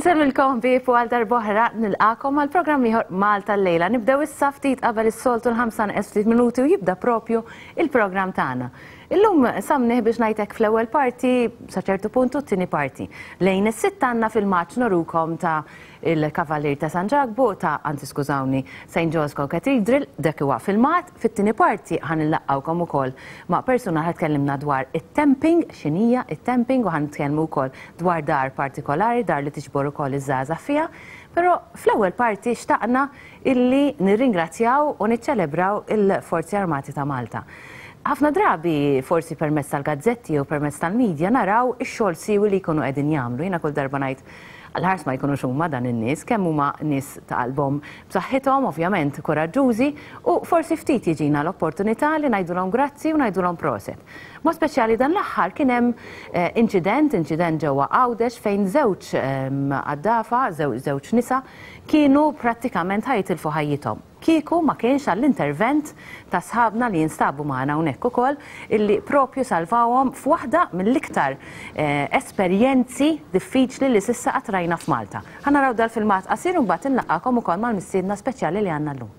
Insellmilkom ħbieb u għal darb'oħra nilqakom għal programm ieħor Malta llejla. Nibdew issa ftit qabel is-soltu l-ħamsa neqes ftit minuti u jibda propju il-programm tagħna. Illum samnih biex ngħidlek fl-ewwel parti sa ċertu punt u t-tieni parti. Lejn is-sitta għandna filmat norukom ta' il-Kavalier ta' San Ġakbu ta' anzi skużawni St. John's Cathedral dak huwa filmat. Fit-tieni parti ħa nillaqgħukom ukoll ma' persuna ħa tkellimna dwar it-temping, x'inhija it-temping u ħa nitkellmu wkoll dwar dar partikolari, dar li tiġbor ukoll iż-żgħażagħ fiha. Però fl-ewwel parti xtaqna illi nirringrazzjaw u niċċelebraw il-Forzi Armati ta' Malta. Ħafna drabi, forsi permezz tal-gazzetti jew permezz tal-media, naraw ix-xogħol siewi li jkunu qegħdin jagħmlu. Jiena kull darba ngħid għall-ħars ma jkunux huma dan in-nies, kemm huma nies ta' qalbhom b'saħħithom, ovvjament kuraġġużi, u forsi ftit jiġina l-opportunità li ngħidulhom grazzi u ngħidulhom proset. Mod speċjali dan l-aħħar kien hemm inċident, inċident ġewwa Għawdex fejn żewġ għaddafa, żewġ nisa, kienu prattikament ħa jitilfu ħajjithom. Kieku ma kienx għall-intervent ta' sħabna li jinstabu magħna hawnhekk ukoll illi propju salvawhom f'waħda mill-iktar esperjenzi diffiċli li s'issa qatt rajna f'Malta. Ħa naraw dal-filmat qasir u mbagħad inlaqqagħkom ukoll mal-mistiedna speċjali li għandna llum.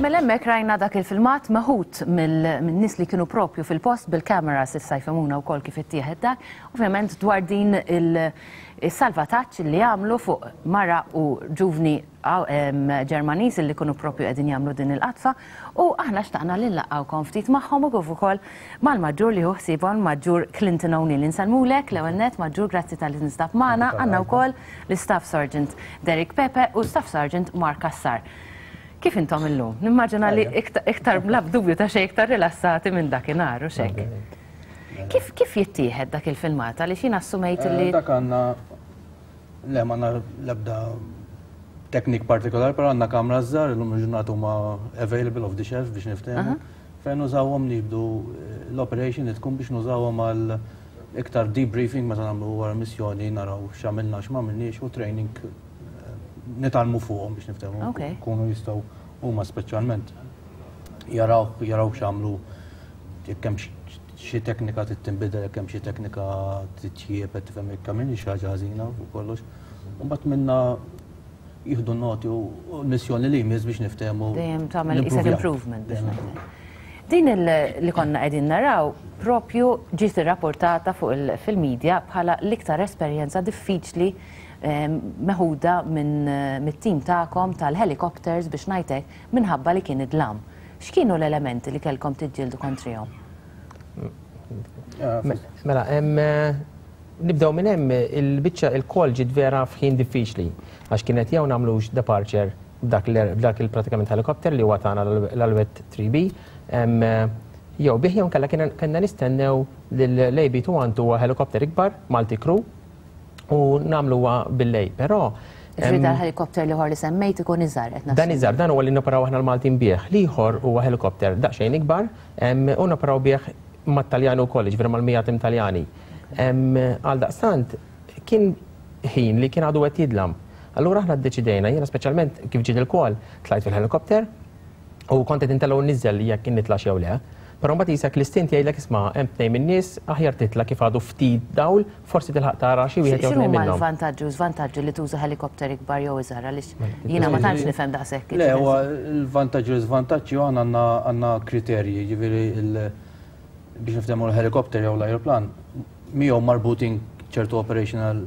Mela hemmhekk rajna dak il-filmat meħud min-nies li kienu propju fil-post bil-cameras issa jfhimuna wkoll kif ittieħed dak, ovvjament dwar din il-salvataġġ li għamlu fuq mara u ġuvni Ġermaniż li kienu propju qegħdin jagħmlu din il-qadfa u aħna xtaqna li nlaqqgħukom ftit magħhom u kif ukoll mal-Maġġur li hu ħsiebhom Maġġur Clinton O'Neill. Insellmulek l-ewwel nett Maġġur grazzi talli tinstab magħna. Għandna wkoll l-Staff Sergeant Derek Pepe u Staff Sergeant Mark Cassar. Kif intom illum? Nimmaġina li iktar bla dubju ta' xejn iktar rilassati minn dakinhar u x'hekk. Kif kif jittieħed dak il-filmat? Għaliex jien assumejt li. Dak għandna Le, ma l-ebda teknik partikolari, però għandna kamra żgħar, illum il-ġurnata huma available off the shelf biex niftehmu. Fejn nużawhom nibdu eh, l-operation li tkun biex nużawhom għal iktar debriefing meta nagħmlu wara missjoni naraw x'għamilna x'm'għamilniex u training eh, nitgħallmu fuqhom biex niftehmu. Kunu jistgħu huma speċjalment jaraw jaraw x'għamlu jekk hemm xi teknika trid tinbidel, jekk hemm xi teknika titjieb, qed tifhem jekk hemm xi ħaġa ħażina u kollox. U mbagħad minna jieħdu noti u l-missjoni li jmiss biex niftehmu. Dejjem tagħmel isek improvement biex ngħidlek. Din li konna qegħdin naraw propju ġiet irrapportata fuq fil-media bħala l-iktar esperjenza diffiċli ehm, meħuda minn mit-tim tagħkom tal-helicopters biex ngħidlek minħabba li kien id-dlam. X'kienu l-elementi li kellkom tiġġieldu kontrihom? Mela, nibdew minn hemm il-biċċa il-kol ġiet vera f'ħin diffiċli għax kienet jew nagħmlux departure b'dak il-pratikament helikopter li huwa tagħna l-Alouette 3B jew bih jew nkella kellna nistennew l-AB212 huwa helikopter ikbar multi crew u nagħmluha bil-lejl. Però Ġifieri dal-helikopter l-ieħor li semmejt ikun iżgħar qed Dan iżgħar, dan huwa li noperaw aħna l-Maltin bih. L-ieħor huwa helikopter daqsxejn ikbar u noperaw bih mat-Taljani wkoll, jiġifieri mal-100 tim Taljani. Għaldaqstant kien ħin li kien għadu qed jidlam. Allura aħna ddeċidejna, jiena speċjalment kif ġiet il-call, tlajt fil-helikopter u kont qed intella' u nniżżel jekk nitlax jew le. Però mbagħad qisek l-istint jgħidlek isma' hemm tnejn min-nies aħjar titla' kif għadu ftit dawl, forsi tilħaq tara xi wieħed jew tnejn X'inhuma minnhom. l-vantaġġi u żvantaġġi li tuża helikopter ikbar jew iżgħar għaliex jiena ma tantx nifhem daqshekk. Le, huwa l-vantaġġi u l-iżvantaġġi u aħna għandna għandna kriterji, jiġifieri biex niftehmu l-helikopter jew l-ajruplan miegħu marbutin ċertu operational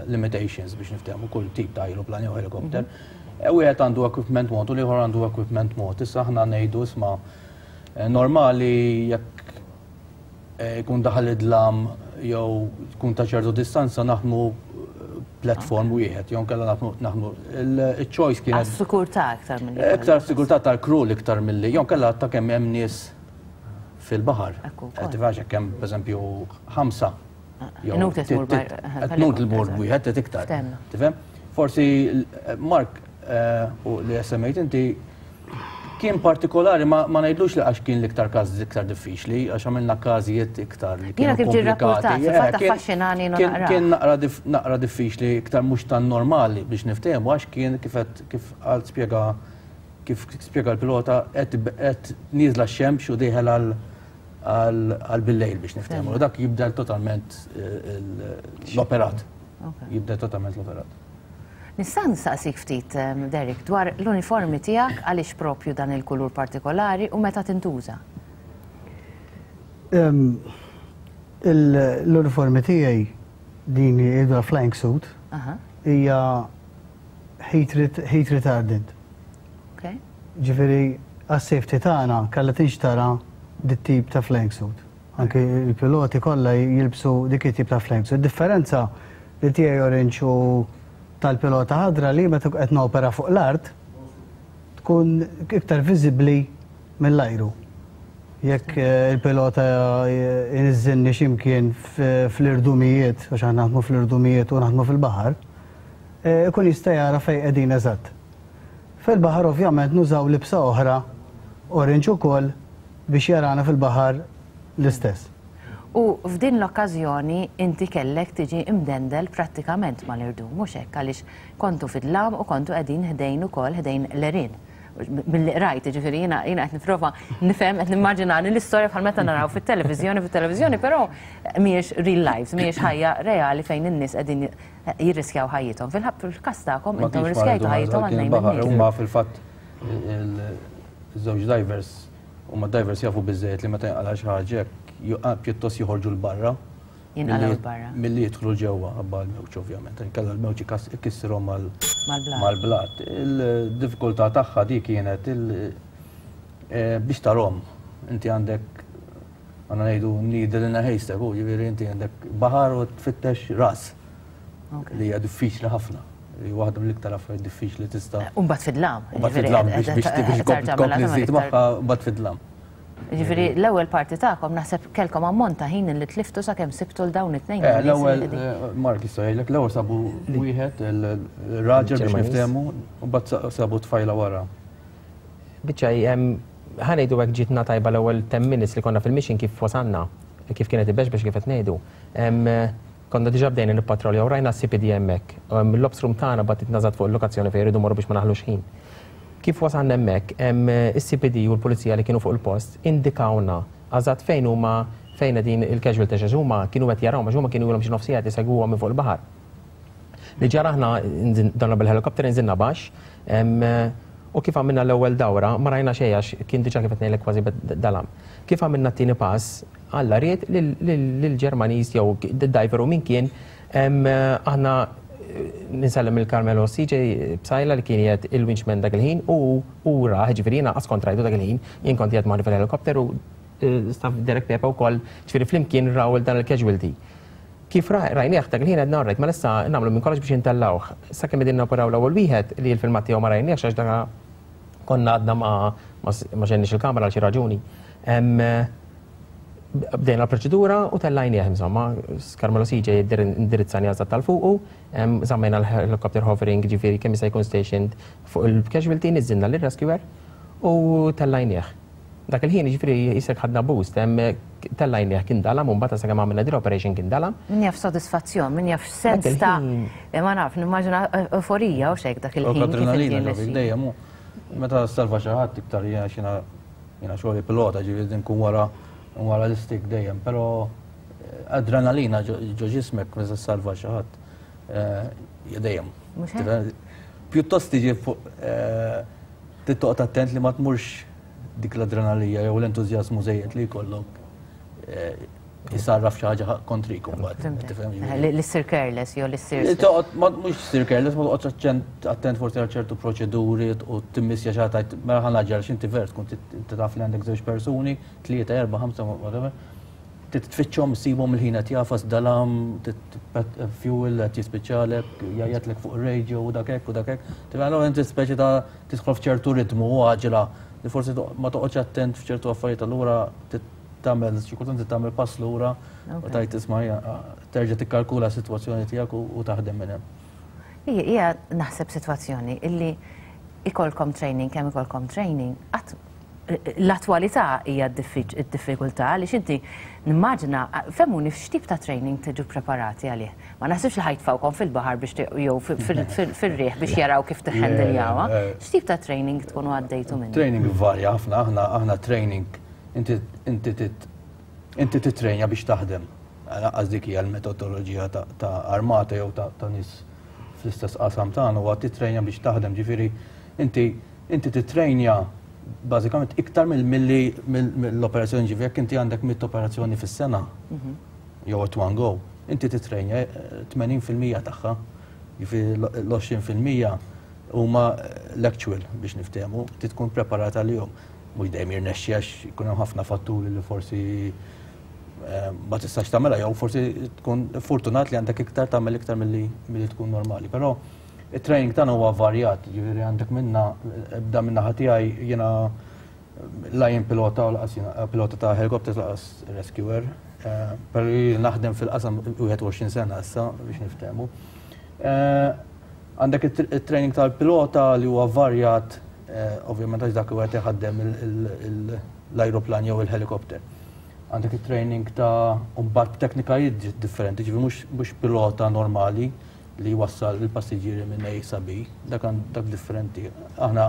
limitations biex niftehmu kull tip ta' ajruplan jew helikopter. Wieħed għandu equipment mod u l-ieħor għandu equipment mod. Issa aħna ngħidu isma' normali jekk jkun daħal id-dlam jew tkun ta' ċertu distanza naħdmu platform wieħed, jew nkella naħdmu il-choice kienet. Għas-sigurtà aktar milli. Iktar sigurtà tal-crew l-iktar milli, jew nkella ta' kemm hemm nies fil-baħar. Qed tifhem jekk hemm pereżempju ħamsa. Inutli tmur Inutli tmur wieħed qed iktar. Tifhem? Forsi Mark u li semmejt inti kien partikolari ma ngħidlux li għax kien l-iktar każ iktar diffiċli, għax għamilna każijiet iktar li kienu komplikati. Jiena kif ġie rappurtat, affaxxinani naqra. Kien naqra diffiċli iktar mhux tan normali biex niftehmu għax kien kif kif għal spjega kif spjega l-pilota qed nieżla x-xemx u dieħel għal bil-lejl biex niftehmu. Dak jibdel totalment l-operat. Jibdel totalment l-operat. Nista' nistaqsik ftit, Derek, dwar l-uniformi tiegħek għaliex propju dan il-kulur partikolari u meta tintuża? L-uniformi tiegħi din hija flying suit hija heat retardant. Ġifieri għas-safety tagħna kellha tinxtara dit-tip ta' flying suit. Anke il-piloti kollha jilbsu dik it-tip ta' flying suit. Differenza li tiegħi orange u tal-pilota ħadra li meta qed nopera fuq l-art tkun iktar viżibbli mill-ajru. Jekk il-pilota jniżżilni x'imkien fl-irdumijiet, għax aħna naħdmu fl-irdumijiet u naħdmu fil-baħar, ikun jista' jara fejn qegħdin eżatt. Fil-baħar ovvjament nużaw libsa oħra orange ukoll biex jarana fil-baħar l-istess. U f'din l-okkażjoni inti kellek tiġi imdendel prattikament mal-irdum, mhux hekk għaliex kontu fid-dlam u kontu qegħdin ħdejn ukoll ħdejn l-għerien. Milli qrajt, jiġifieri jiena jiena qed nipprova nifhem qed nimmaġinani l-istorja bħal meta naraw fit-televiżjoni fit-televiżjoni, però mhijiex real life, mhijiex ħajja reali fejn in-nies qegħdin jirriskjaw ħajjithom. Fil-każ tagħkom intom irriskjajtu ħajjithom għal tnejn min-nies. Huma fil-fatt iż-żewġ divers huma divers jafu biżżejjed li meta jinqala' xi ħaġa hekk pjuttost joħorġu 'l barra. Jinqalgħu 'l barra. Milli jidħlu ġewwa ħabba l-mewġ ovvjament. Inkella l-mewġ ikissirhom mal-blat. Il-diffikultà tagħha di kienet biex tarhom. Inti għandek għandna ngħidu needle in a haystack, u jiġifieri inti għandek baħar u tfittex ras. Li hija diffiċli ħafna. Li waħda mill-iktar affarijiet diffiċli tista'. U mbagħad fid-dlam. U mbagħad fid-dlam biex tkompli żżid magħha mbagħad fid-dlam. Jiġifieri l-ewwel parti tagħkom naħseb kellkom ammont ta' ħin li tliftu sakemm sibtu l dawn it-tnejn. L-ewwel Mark jista' jgħidlek l-ewwel sabu wieħed il-raġel biex niftehmu u mbagħad sabu tfajla wara. Biċċa ħa ngħidu hekk ġietna tajba l-ewwel 10 minutes li konna fil-mission kif wasalna, kif kienet ibexbex kif qed ngħidu. Konna diġà bdejna nippatroljaw rajna s-CPD hemmhekk. L-ops room tagħna bagħtitna eżatt fuq il-lokazzjoni fejn irridu morru biex ma naħlux ħin. Kif wasalna hemmhekk, is-CPD u l-pulizija li kienu fuq il-post indikawna eżatt fejn huma fejn qegħdin il-casualties għax huma kienu qed jarawhom għax huma kienu ilhom xi nofs siegħa qed isegwuhom minn fuq il-baħar. Li ġara aħna donna bil-helikopter inżilna baxx u kif għamilna l-ewwel dawra ma rajna xejn għax kien diġà kif qed ngħidlek kważi dalam. Kif għamilna t-tieni pass, Alla ried lill-Ġermaniż jew diver u min kien aħna ninsellem il-Carmelo CJ Psaila li kien qiegħed il-winchman dak il-ħin u ra, ġifieri jiena qas kont rajtu dak il-ħin, jien kont qiegħed magħni fil-helikopter u staff Derek Pepe wkoll, ġifieri flimkien raw dan il-casualty. Kif rajnieh dak il-ħin għedna alright, mela issa nagħmlu minn kollox biex intellgħuh. Sakemm qegħdin noperaw l-ewwel wieħed li l-filmat tiegħu ma rajniehx għax dak konna għadna ma xegħelniex il-kamera għal xi raġuni. Bdejna l-proċedura u tellajnieh insomma, Carmelo CJ indirizzani eżatt tal-fuqu, żammejna l-helicopter hovering ġifieri kemm jista' jkun stationed fuq il-casualty, niżżilna lir-rescuer u tellajnieh. Dak il-ħin jiġifieri jisek ħadna boost, hemm tellajnieh kien dalam u mbagħad sakemm għamilna din l-operation kien dalam. Min jaf sodisfazzjon, min jaf sens ta' ma naf, nimmaġina euforija u xek dak il-ħin. Adrenalina dejjem meta salva xi ħadd iktar jiena xina jiena xogħli pilota ġifieri nkun wara wara l-istik dejjem, però adrenalina ġo ġismek meta salva xi ħadd dejjem. Pjuttost tiġi fuq tittoqgħod attent li ma tmurx dik l-adrenalija jew l-entużjażmu żejjed li jkollok jisarraf xi ħaġa kontrik imbagħad. Tifhem? Li ssir careless jew li ssir. Toqgħod mhux ssir careless, ma toqgħodx attent forsi għal ċertu proċeduri u timmissja xi ħadd mela ħa naġġel għax inti ver tkun taf li għandek żewġ persuni, tlieta, erba' ħamsa, whatever. Titfittxhom issibhom il-ħin qed jafas dalam, fuel qed jispiċċalek, jgħajjatlek fuq ir-radio u dak hekk u dak hekk. Tifhem allura inti speċi ta' tidħol f'ċertu ritmu u għaġla li forsi ma toqgħodx attent f'ċertu affarijiet allura tagħmel xi kultant tagħmel pass lura u tgħid isma' terġa' tikkalkula s-sitwazzjoni tiegħek u taħdem minn hemm. Hija naħseb sitwazzjoni illi ikolkom training kemm ikolkom training qatt l-attwalità hija d-diffikultà għaliex inti nimmaġina fehmuni x'tip ta' training tiġu preparati għalih. Ma naħsibx li ħajtfawkom fil-baħar biex jew fir-riħ biex jaraw kif tiħħendiljawha. X'tip ta' training tkunu għaddejtu minnu? Training varja ħafna, aħna aħna training inti inti inti titrejnja biex taħdem. Lanqas dik hija l-metodoloġija ta' armata jew ta' nies fl-istess qasam tagħna huwa titrejnja biex taħdem, ġifieri inti inti titrejnja bażikament iktar milli mill-operazzjoni ġifieri jekk inti għandek mit operazzjoni fis-sena jew at one go, inti titrejnja 80% tagħha, ġifieri l-20% huma l-actual biex niftehmu, ti tkun preparata għalihom. Mhux dejjem jirnexxi għax ikun hemm ħafna fatturi li forsi ma tistax tagħmilha jew forsi tkun fortunat li għandek iktar tagħmel iktar milli tkun normali. Però it-training tagħna huwa varjat, ġifieri għandek minna bda minna ħa tiegħi jiena la jien pilota u laqas jiena pilota ta' helicopter laqas rescuer, però naħdem fil-qasam 21 sena issa biex niftehmu. Għandek it-training tal-pilota li huwa varjat, ovvjament għax dak huwa iħaddem l-ajruplan jew il-helikopter. Għandek it-training ta' mbagħad teknikajiet differenti, ġifieri mhux pilota normali li jwassal il-passiġġieri minn A sa B, dak dak differenti. Aħna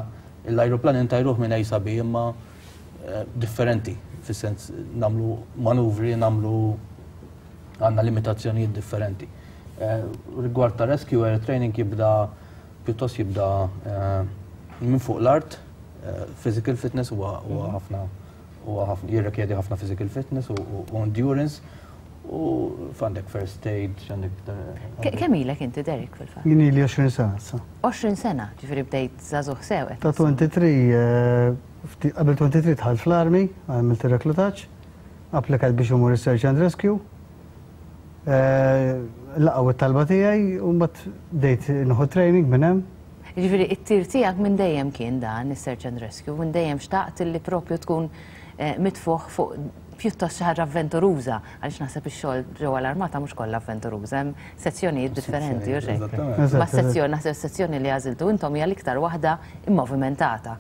l-ajruplan intajruh minn A sa B imma differenti, fis-sens nagħmlu manuvri, nagħmlu għandna limitazzjonijiet differenti. Rigward ta' rescue air training jibda pjuttost jibda minn fuq l-art, physical fitness huwa ħafna huwa ħafna jirrikjedi ħafna physical fitness u endurance u għandek first aid, għandek. Kemm ilek inti Derek fil-fatt? Jien ili 20 sena issa. 20 sena, ġifieri bdejt żagħżugħ sew. Ta' 23, qabel 23 dħalt fl-army, għamilt ir-reklutaġġ, applikajt biex imur is-search and rescue. Laqgħu it-talba tiegħi u mbagħad bdejt nieħu training minn hemm. Ġifieri it-tir tiegħek minn dejjem kien dan is-search and rescue, minn dejjem xtaqt li propju tkun mitfuħ fuq pjuttost xi ħaġa avventuruża, għaliex naħseb ix-xogħol ġewwa l-armata mhux kollha avventuruża, hemm sezzjonijiet differenti u xejn. Ma sezzjoni, naħseb sezzjoni li għażiltu intom hija l-iktar waħda immovimentata.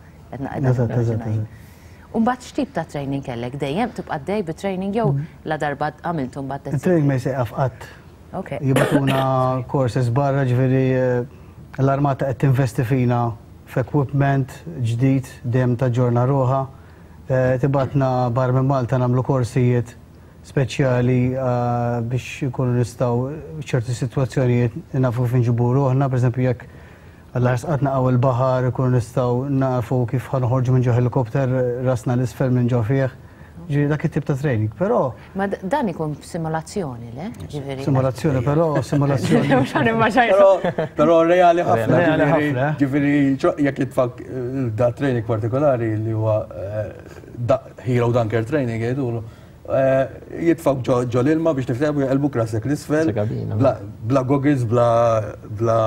U mbagħad x'tip ta' training kellek dejjem tibqa' dej bi training jew la darba għamiltu mbagħad Training ma jsejqaf qatt. Jibagħtuna courses barra ġifieri l-armata qed tinvesti fina f'equipment ġdid dejjem taġġorna ruħha. Tibgħatna barra minn Malta nagħmlu korsijiet speċjali biex ikunu nistgħu ċerti sitwazzjonijiet nafu kif inġibu ruħna, pereżempju jekk għall-ħars qatt naqgħu il-baħar ikunu nistgħu nafu kif ħa noħorġu minn ġo helikopter rasna l-isfel minn ġo fih. Ġifieri dak it-tip ta' training, però. Ma dan ikun simulazzjoni, le? Ġifieri. Simulazzjoni, però simulazzjoni. Mhux ħa nimmaġina. Però reali ħafna. Reali ħafna. Ġifieri jekk jitfak da training partikolari li huwa Hero Dunker training jgħidulu, jitfak ġo l-ilma biex niftehmu jaqilbuk rasek l-isfel. Bla goggles, bla bla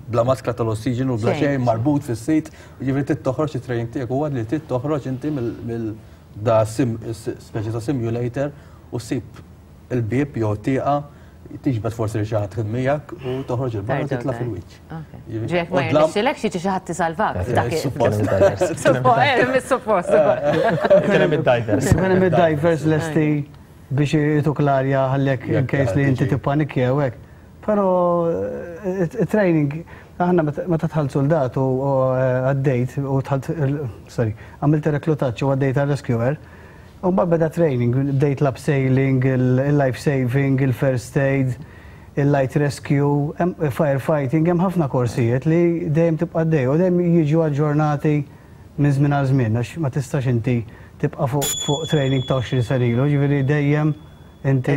bla maskra tal-ossiġenu, bla xejn marbut fis-seat. Ġifieri trid toħroġ it-training tiegħek huwa li trid toħroġ inti mill da speċi ta' simulator u ssib il-bieb jew tieqa. Tiġbed forsi li xi ħadd miegħek u toħroġ il-barra titla' fil-wiċċ. Ġek ma jirnexxilek xi xi ħadd tisalvak. Suppost. Suppost. Kien hemm id-divers. Kien hemm id-divers lesti biex jituk l-arja ħallek in case li inti tippanikja u hekk. Però training aħna meta dħalt soldat u għaddejt u dħalt sorry, għamilt reklutaġġ u għaddejt għal rescuer, U mbagħad beda training, bdejt l-abseiling, il-life saving, il-first aid, il-light rescue, firefighting, hemm ħafna korsijiet li dejjem tibqa' għaddej u dejjem jiġu aġġornati minn żmien għal żmien għax ma tistax inti tibqa' fuq training ta' 20 sena ilu, ġifieri dejjem inti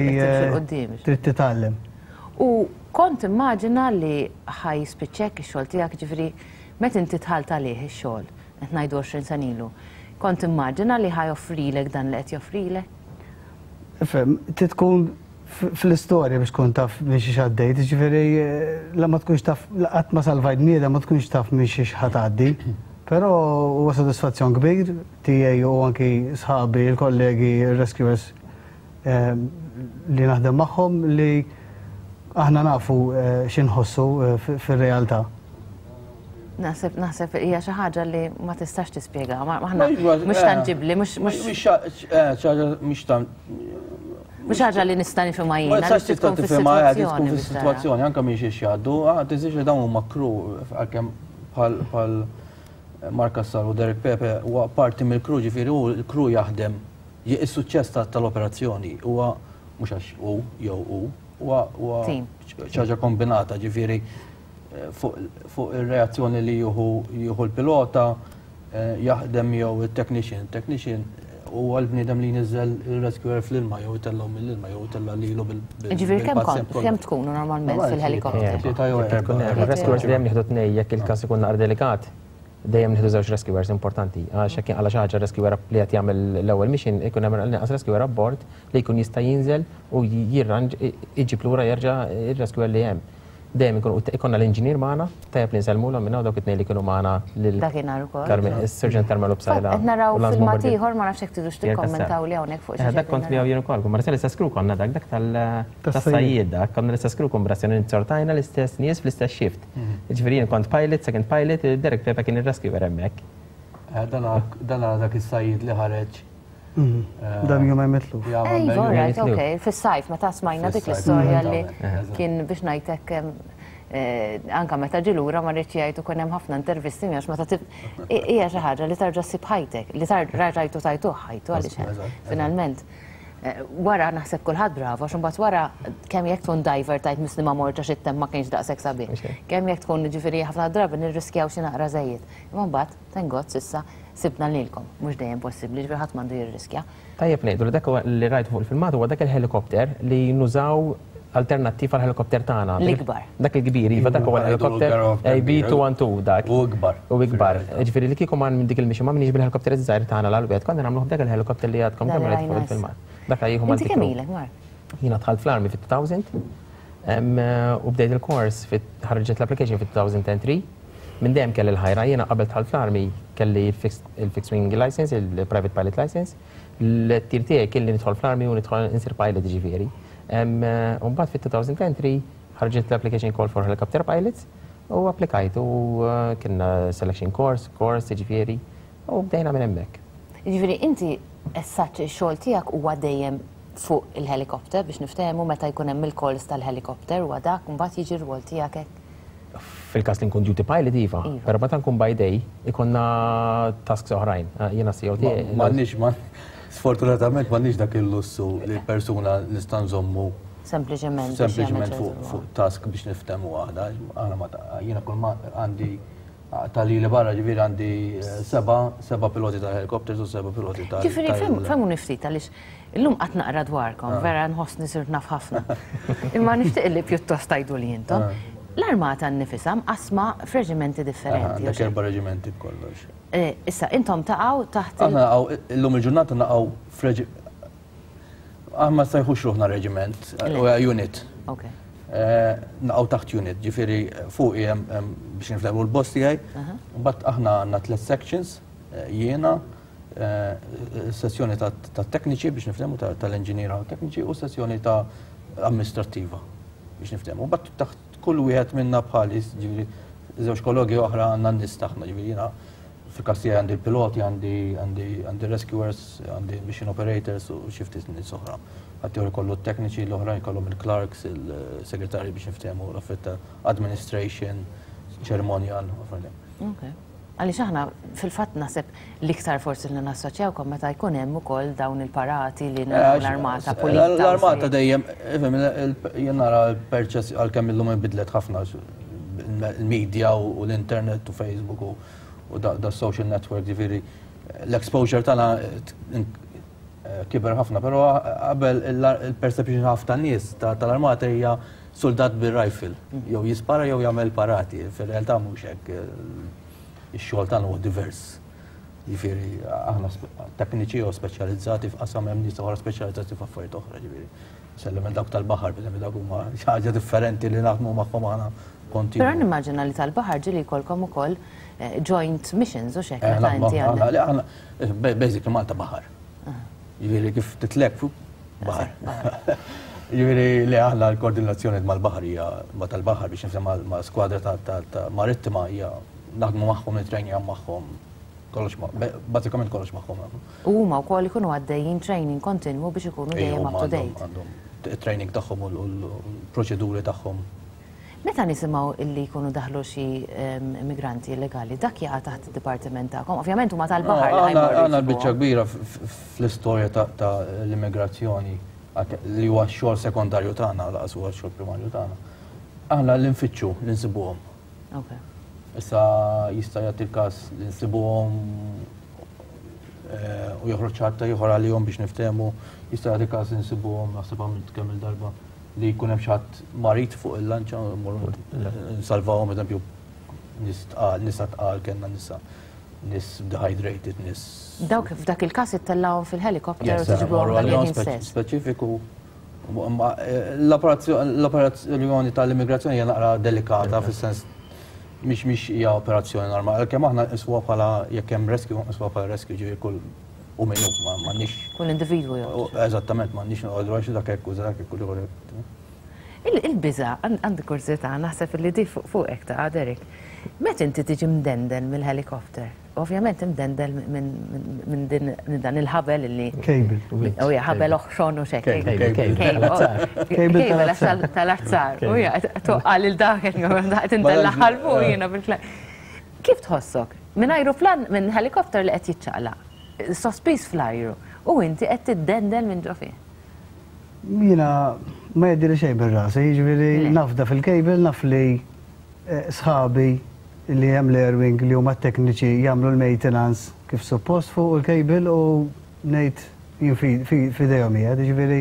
trid titgħallem. U kont timmaġina li ħa jispiċċek ix-xogħol tiegħek, ġifieri meta inti dħalt għalih ix-xogħol, qed ngħidu 20 sena ilu, kont timmaġina li ħa joffrilek dan li qed joffrilek? Ifhem, trid tkun fl-istorja biex tkun taf minn xiex għaddejt, ġifieri la ma tkunx taf, qatt ma salvajt bniedem ma tkunx taf minn xiex ħa tgħaddi. Però huwa sodisfazzjon kbir tiegħi u anki sħabi, il-kollegi, il-rescuers li naħdem magħhom li aħna nafu x'inħossu fir-realtà. Naħseb naħseb hija xi ħaġa li ma tistax tispjega, aħna mhux tanġibbli, mhux mhux mhux Mhux ħaġa li nista' nifhimha jiena. Ma tistax tista' tifhimha tkun fis-sitwazzjoni anke minn xiex jgħaddu, tiżix li dawn huma crew għalkemm bħal Mark Cassar u Derek Pepe huwa parti mill-crew ġifieri hu l-crew jaħdem is-suċċess tal-operazzjoni huwa mhux għax hu jew hu huwa ħaġa kombinata ġifieri fuq ir-reazzjoni li jieħu jieħu l-pilota jaħdem jew it-technician. Technician huwa l-bniedem li jniżżel il-rescuer fl-ilma jew itellgħu mill-ilma jew itella' lilu bil Ġifieri kemm kemm tkunu normalment fil-helikopter? Tlieta jew erba'. Il-rescuers dejjem nieħdu tnej jekk il-każ ikun naqra delikat. Dejjem nieħdu żewġ rescuers importanti. Għax jekk jinqala' xi ħaġa rescuer li qed jagħmel l-ewwel mission ikun hemm l-inqas rescuer abbord li jkun jista' jinżel u jirranġ iġib lura jerġa' ir-rescuer li hemm. Dejjem ikun ikollna l-inġinier magħna, tajjeb li nsellmulhom minn hawn dawk it-tnejn li kienu magħna lil Dakinhar ukoll. Is-Surġent Carmelo Psaila. Qed naraw filmat ieħor ma nafx jekk tridux tikkommentaw li hawnhekk fuq xi. Dak kont miegħu jien ukoll, kumbrazzjoni l-istess crew konna dak, dak tas-sajjied dak, konna l-istess crew kumbrazzjoni nzortajna l-istess nies fl-istess shift. Jiġifieri jien kont pilot, second pilot, Derek Pepe kien ir-rescuer hemmhekk. Dan dak is-sajjied li ħareġ Dan jum hemm mitluf. Iva, right, ok. Fis-sajf, meta smajna dik l-istorja li kien biex ngħidlek anka meta ġie lura ma rridx jgħid ukoll hemm ħafna intervisti għax meta hija xi ħaġa li tarġa' ssib ħajtek, li rajtu tajtuh ħajtu għaliex finalment. Wara naħseb kulħadd bravo, għax imbagħad wara kemm jekk tkun diver tajt misli ma mortx għax it-temp ma kienx daqshekk sabiħ. Kemm jekk tkun ġifieri ħafna drabi nirriskjaw xi naqra żejjed. Imma mbagħad, thank God, s'issa sibna lilkom. Mhux dejjem possibbli, ġifieri ħadd m'għandu jirriskja. Tajjeb ngħidu li dak li rajtu fuq il-filmat huwa dak il-helikopter li nużaw alternattiv għall-helikopter tagħna. L-ikbar. Dak il-kbir, iva dak huwa l-helikopter AB212 dak. U ikbar. U ikbar. Ġifieri li kieku ma minn dik il-mixi ma minix bil-helikopter iż-żgħir tagħna l-Alouette, konna nagħmluh b'dak il-helikopter li għadkom kemm rajtu fuq il-filmat. Dak jieħu Inti kemm ilek, Mark? Jiena dħalt fl-army fit-2000 u bdejt il-kors ħarġet l-application fit-2003. Minn dejjem kelli l-ħajra, jiena qabel dħalt fl-army kelli il-fixed wing license, il-private pilot license. L-tir tiegħi kien li nidħol fl-army u nidħol insir pilot ġifieri. U mbagħad fit-2003 ħarġet l-application call for helicopter pilots u applikajt u kienna selection course, course ġifieri u bdejna minn hemmhekk. Ġifieri inti essaċ ix-xogħol tiegħek huwa dejjem fuq il-helikopter biex niftehmu meta jkun hemm il-calls tal-helikopter huwa dak mbagħad jiġi r-rwol tiegħek hekk. Fil-każ li nkun duty pilot iva, però meta nkun by day ikonna tasks oħrajn. Jiena CEO tiegħi. M'għandniex ma sfortunatament m'għandniex dak il-lussu li persuna nista' nżommu Sempliċement. Sempliċement fuq task biex niftehmu waħda. Aħna ma jiena kull ma għandi tal-li barra ġifieri għandi seba' piloti ta' helicopters u seba' piloti ta' Ġifieri fehmuni ftit għaliex illum qatt naqra dwarkom, vera nħossni sirt naf ħafna. Imma nixtieq li pjuttost tgħidu li intom. L-armata nnifisha mqassma f'reġimenti differenti. Għandek erba' reġimenti b'kollox. Issa intom taqgħu taħt. Aħna naqgħu illum il-ġurnata naqgħu f'reġi Aħna ma nsejħux ruħna reġiment, unit. Naqgħu taħt unit, ġifieri fuqi hemm biex niflehmu l-boss tiegħi. Mbagħad aħna għandna tliet sections, jiena, sessjoni ta' tekniċi biex niflehmu tal-inġiniera u tekniċi u sessjoni ta' amministrattiva. biex niftehmu. But taħt kull wieħed minna bħali, ġifieri żewġ kollegi oħra għandna n-nies tagħna, ġifieri jiena fil-każ tiegħi għandi l-piloti, għandi għandi għandi rescuers, għandi mission operators u xi ftit nies oħra. Ħaddieħor ikollu t-tekniċi, l-oħrajn ikollhom il-clerks, il-segretarji biex niftehmu, l-affarijiet ta' administration, ceremonial, affarijiet. Okay. Għaliex aħna fil-fatt naħseb l-iktar forsi li nassoċjawkom meta jkun hemm ukoll dawn il-parati li naraw l-armata pulita. L-armata dejjem, ifhem, jien nara l-perċess għalkemm illum inbidlet ħafna il-media u l-internet u Facebook u da social network, ġifieri l-exposure tagħna kiber ħafna, però qabel il-perception ħafna nies tal-armata hija soldat bir-rifle, jew jispara jew jagħmel parati, fir-realtà mhux hekk. Ix-xogħol tagħna huwa divers. Jiġifieri aħna tekniċi jew speċjalizzati f'qasam hemm nies oħra speċjalizzati f'affarijiet oħra, ġifieri. Sellem dawk tal-baħar, per dawk huma xi ħaġa differenti li naħdmu magħhom aħna kontinu. Però nimmaġina li tal-baħar ġieli jkollkom ukoll joint missions u x'hekk meta inti għandek. Basically Malta baħar. Jiġifieri kif titlek fuq baħar. Jiġifieri li aħna l-koordinazzjoni mal-baħar hija ma tal-baħar biex nifhem ma' skwadra ta' marittima hija naħdmu magħhom, nitrenjaw magħhom, kollox bażikament kollox magħhom nagħmlu. U huma wkoll ikunu għaddejjin training kontinwu biex ikunu dejjem up to date. Għandhom it-training tagħhom u l-proċeduri tagħhom. Meta nisimgħu illi jkunu daħlu xi immigranti illegali, dak jaqa' taħt id-dipartiment tagħkom? Ovvjament huma tal-baħar li ħajmorru. Għandna l-biċċa kbira fl-istorja ta' l-immigrazzjoni li huwa x-xogħol sekondarju tagħna, laqas huwa x-xogħol primarju tagħna. Aħna li nfittxu li nsibuhom. Issa jista' jagħti l-każ li nsibuhom u joħroġ ħadd ieħor għalihom biex niftehmu, jista' jagħti każ li nsibuhom naħseb għamilt kemm il-darba li jkun hemm xi ħadd marid fuq il-lanċa mmorru nsalvawhom eżempju nies tqal, nisa tqal kellna nisa nies dehydrated, nies. Dawk f'dak il-każ ittellgħuhom fil-helikopter u tiġbruhom dak il-ħin stess. Speċifiku. L-operazzjoni tal-immigrazzjoni hija naqra delikata fis-sens mhix mhix hija operazzjoni normali. Għalkemm aħna nqisuha bħala jekk hemm rescue, nqisuha bħala rescue ġifieri kull u minnu m'għandniex. Kull individwu jew. Eżattament m'għandniex noqogħdu għax dak hekk u dak hekk u ieħor hekk. Il-biża' għandi kurżità naħseb li di fuqek taqa' Derek. Meta inti tiġi mdendel mill-helikopter, ovvjament imdendel minn dan il-ħabel li. Cable. U hija ħabel oħxon u xek. Cable. Cable tal-azzar. U hija toqqa lil dak qed intella' fuq jiena bil Kif tħossok? Minn ajruplan, minn helikopter li qed jiċċaqlaq, sospiż fl-ajru, u inti qed tiddendel minn ġo fih. Jiena ma jgħaddili xejn minn rasi, jiġifieri nafda fil-cable, naf li sħabi li hemm l-airwing li huma t-tekniċi jagħmlu l-maintenance kif suppost fuq il-cable u ngħid jien f'idejhom qiegħed, jiġifieri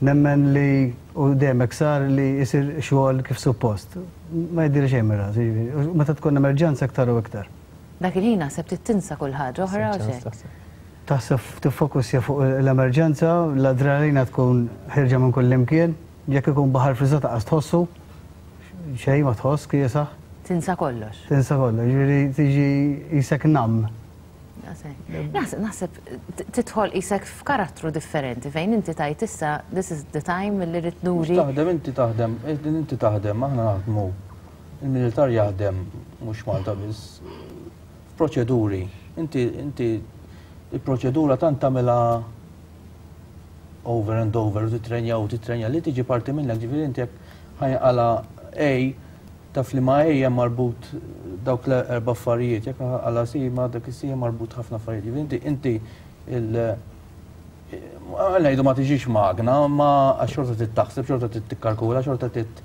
nemmen li u dejjem hekk sar li jsir xogħol kif suppost. Ma jgħaddili xejn minn rasi, jiġifieri, u meta tkun emerġenza iktar u iktar. Dak il-ħin naħseb trid tinsa kull ħaġa oħra u x'hekk. Taħseb tiffokusja fuq l-emerġenza, l-adrenalina tkun ħierġa minn kullimkien, jekk ikun baħar friżat anqas tħossu, xejn ma tħoss kiesaħ. Tinsa kollox. Tinsa kollox, jiġifieri tiġi qisek numb. Naħseb naħseb tidħol qisek f'karattru differenti fejn inti tgħid issa this is the time li rrid nuri. Taħdem inti taħdem, inti taħdem, aħna naħdmu. Il-militar jaħdem mhux Malta biss f'proċeduri. Inti inti il-proċedura tant tagħmilha over and over u titrenja u titrenja li tiġi parti minnek, ġifieri inti jekk ħajqala A taf li ma' A hemm marbut dawk l-erba' affarijiet, jekk ħanqala C ma' dak is-C hemm marbut ħafna affarijiet. Ġifieri inti inti il ngħidu ma tiġix magna, ma għax xorta trid taħseb, xorta trid tikkalkula, xorta trid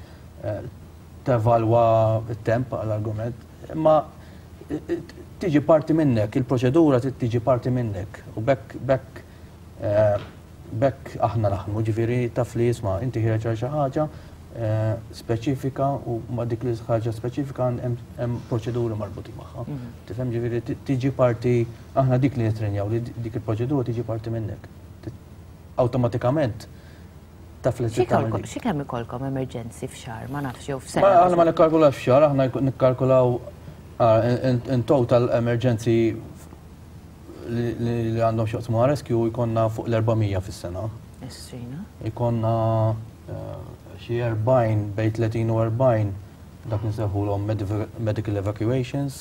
tevalwa t-temp għall-argument, imma tiġi parti minnek, il-proċedura trid tiġi parti minnek u bekk bekk bekk aħna naħdmu, ġifieri taf li isma' inti ħiereġ għal xi ħaġa speċifika u ma' dik li ħaġa speċifika hemm proċeduri marbutin magħha. Tifhem ġifieri tiġi parti aħna dik li nitrenjaw li dik il-proċedura tiġi parti minnek. Awtomatikament taf li trid tagħmel dik. Xi kemm ikollkom emerġenzi f'xahar, ma nafx jew f'sena? Aħna ma nikkalkulawx f'xahar, aħna nikkalkulaw in total emerġenzi li għandhom x'jaqsmu ma' rescue jkollna fuq l-400 fis-sena. Estrina. Jkollna. Xi 40 bejn 30 u 40 dak nsejħulhom medical evacuations.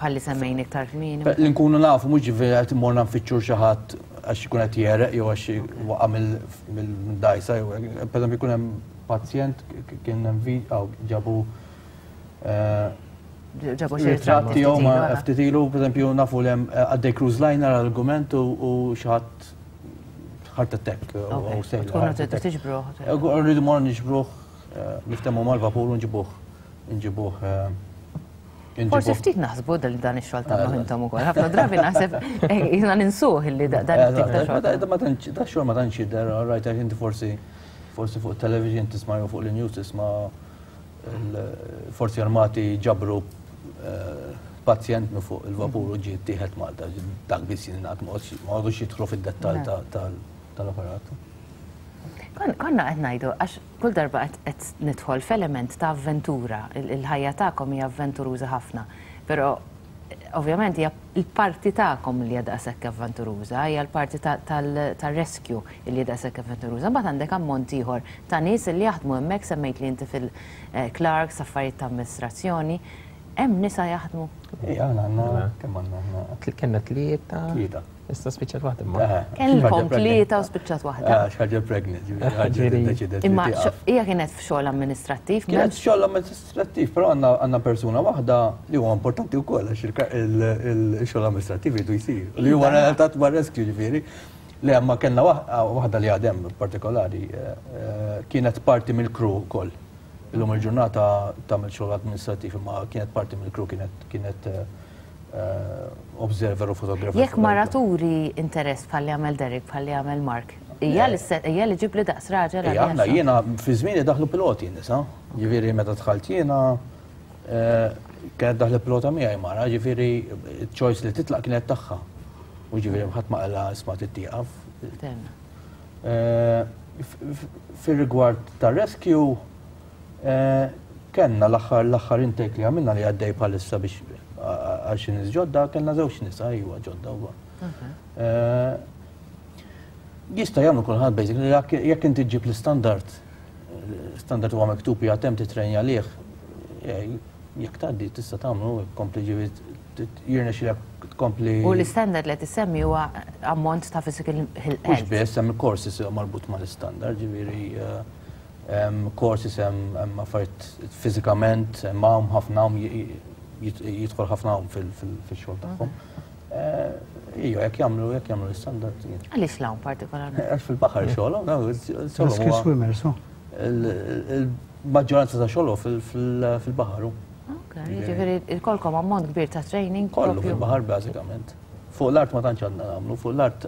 Bħalli semmejn iktar kmieni. Li nkunu nafu mhux ġifieri qed immorna nfittxu xi ħadd għax ikun qed jegħreq jew għax waqa' mill-dgħajsa jew pereżempju jkun hemm pazjent kien hemm ġabu ġabu xi ritratti jew ma ftit ilu, pereżempju nafu li hemm għaddej cruise liner argument u xi ħadd heart attack u sejl. Tkunu tridu tiġbruh. Rridu morru niġbruh, niftehmu mal-vapur u nġibuh. Nġibuh. Forsi ftit naħsbu li dan ix-xogħol tagħmlu intom ukoll. Ħafna drabi naħseb jiena ninsuh li dan it-tip ta' xogħol. Da xogħol ma tantx jidher, rajt għax inti forsi forsi fuq television tisma' jew fuq l-news tisma' l-forzi armati ġabru pazjent minn fuq il-vapur u ġie ttieħed Malta, dak biss jingħad ma għodux jidħlu fid-dettall tal-operat. Konna qed ngħidu għax kull darba qed nidħol f'element ta' avventura, il-ħajja tagħkom hija avventuruża ħafna, però ovvjament hija l-parti tagħkom li hija daqshekk avventuruża, hija l-parti tar-rescue li hija daqshekk avventuruża. Mbagħad għandek ammont ieħor ta' nies li jaħdmu hemmhekk, semmejt li inti fil-clerks, affarijiet ta' amministrazzjoni. Hemm nisa jaħdmu? Ejja, aħna għandna kemm għandna aħna? Kellna tlieta. Tlieta. Issa spiċċat waħda imma. Kellkom tlieta u spiċċat waħda. Għax ħaġa pregnant, ġifieri ħaġa deċidet. Imma hija kienet f'xogħol amministrattiv. Kienet f'xogħol amministrattiv, però għandna persuna waħda li huwa importanti wkoll għax il-xogħol amministrattiv jridu jsir. Li huwa relatat ma' rescue ġifieri. Le, ma kellna waħda li għadem partikolari kienet parti mill-crew ukoll. Illum il-ġurnata tagħmel xogħol amministrattiv imma kienet parti mill-crew kienet kienet observer u photographer. Jekk mara turi interess bħal li għamel Derek, bħal li għamel Mark, hija li hija li ġib li daqs raġel. Ija, aħna jiena fi żmieni daħlu piloti nisa, ġifieri meta dħalt jiena kienet daħlet pilota miegħi mara, ġifieri choice li titlaq kienet tagħha. U ġifieri ħadd ma qella isma' tittieqaf. Fir-rigward ta' rescue, kellna l-aħħar l-aħħar intake li għamilna li għaddej bħalissa biex għal xi nies ġodda, kellna żewġ nisa iwa ġodda huwa. Jista' jagħmlu kulħadd basically jekk inti ġġib l-istandard, standard huwa miktub hija hemm titrenja għalih, jekk tgħaddi tista' tagħmlu kompli ġifieri jirnexxilek tkompli. U l-istandard li qed issemmi huwa ammont ta' physical health. Mhux biss, hemm courses marbut mal-istandard, ġifieri hemm courses hemm affarijiet fiżikament, hemm hawn ħafna hawn jidħol ħafna hawn fil-xogħol tagħhom. Ija, jekk jagħmlu jekk jagħmlu l-istandard. Għaliex l-hawn partikolarment? Għax fil-baħar xogħol, Rescue swimmers, oh. Il-maġġoranza ta' xogħol fil-baħar. Ok, jiġifieri jkollkom ammont kbir ta' training. Kollu fil-baħar bażikament. Fuq l-art ma tantx għandna nagħmlu, fuq l-art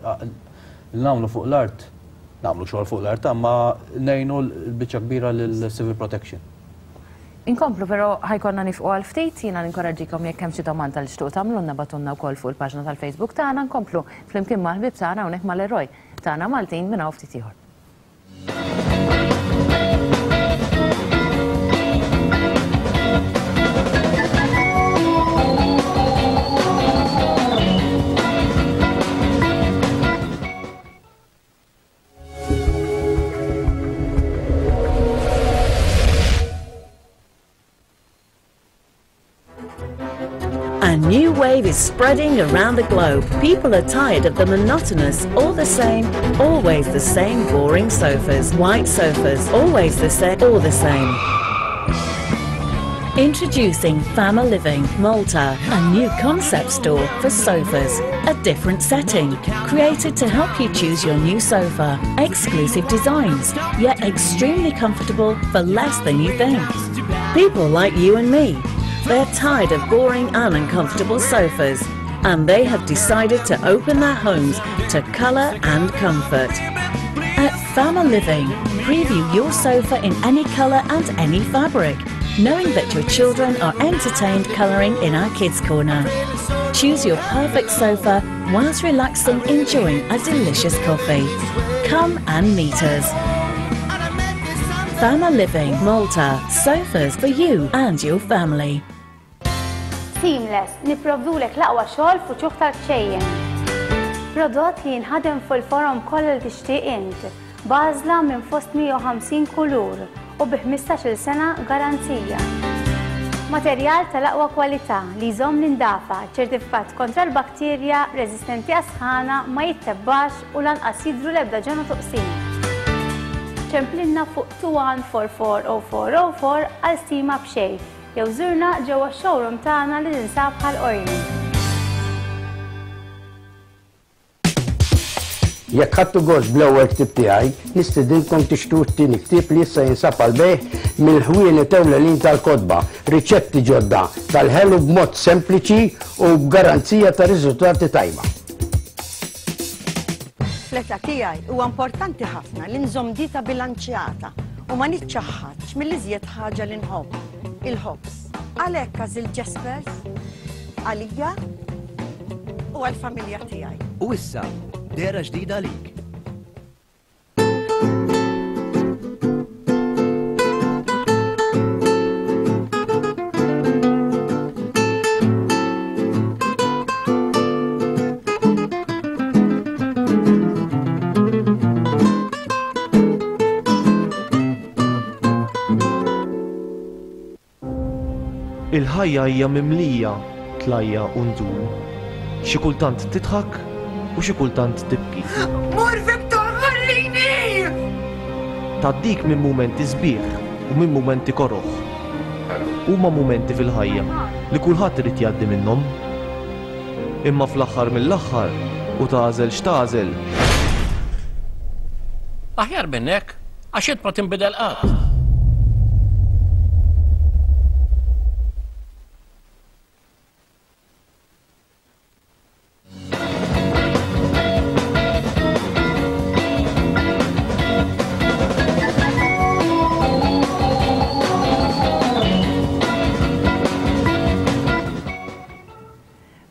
nagħmlu fuq l-art nagħmlu xogħol fuq l-art, imma ngħinu l-biċċa kbira lill-civil protection. Inkomplu però ħa jkollna nifqu għal ftit, jiena ninkoraġġikom jekk hemm xi domanda li tixtuqu tagħmlulna bagħtulna wkoll fuq il-paġna tal-Facebook tagħna, nkomplu flimkien mal-ħbieb tagħna hawnhekk mal-eroj tagħna Maltin minn hawn ftit ieħor. A new wave is spreading around the globe. People are tired of the monotonous, all the same, always the same boring sofas. White sofas, always the same, all the same. Introducing Fama Living Malta, a new concept store for sofas. A different setting, created to help you choose your new sofa. Exclusive designs, yet extremely comfortable for less than you think. People like you and me. They're tired of boring and uncomfortable sofas, and they have decided to open their homes to colour and comfort. At Fama Living, preview your sofa in any colour and any fabric, knowing that your children are entertained colouring in our kids' corner. Choose your perfect sofa whilst relaxing, enjoying a delicious coffee. Come and meet us. Fama Living, Malta. Sofas for you and your family. Seamless, nipprovdulek l-aqwa xogħol f'uċuħ tal-kċejjen. Prodott li jinħadem fuq il-forom kollha li tixtieq int. b'għażla minn fost 150 kulur u bi 15-il sena garanzija. Materjal tal-aqwa kwalità li jżomm l-indafa, ċertifikat kontra l-bakterja, reżistenti għas-sħana, ma jittebbax u lanqas jidhru l-ebda ġenot u qsim. Ċemplilna fuq 21440404 għal stima b'xejn jew żurna ġewwa x-showroom tagħna li tinsab Ħal Qormi. Jekk ħadtu gost bl-ewwel ktieb tiegħi, nistedinkom tixtru t-tieni ktieb li issa jinsab għall-bejgħ mill-ħwienet ewlenin tal-kotba, riċetti ġodda tal-ħelu b'mod sempliċi u b'garanzija ta' riżultati tajba. Fl-età tiegħi huwa importanti ħafna li nżomm dieta bilanċjata u ma niċċaħħadx mill-iżjed ħaġa li nħobb, il-ħobż. Għalhekk għażilt Jaspers għalija u għall-familja tiegħi. U issa, dehra ġdida għalik. Il-ħajja hija mimlija tlajja' u nżul. Xi kultant tidħak u xi kultant tibki. Mur Victor ħallini! Tgħaddik minn mumenti sbieħ u minn mumenti koroh. Huma mumenti fil-ħajja li kulħadd irid jgħaddi minnhom. Imma fl-aħħar mill-aħħar, u tagħżel x'tagħżel, Aħjar minn hekk, għax int ma tinbidel qatt.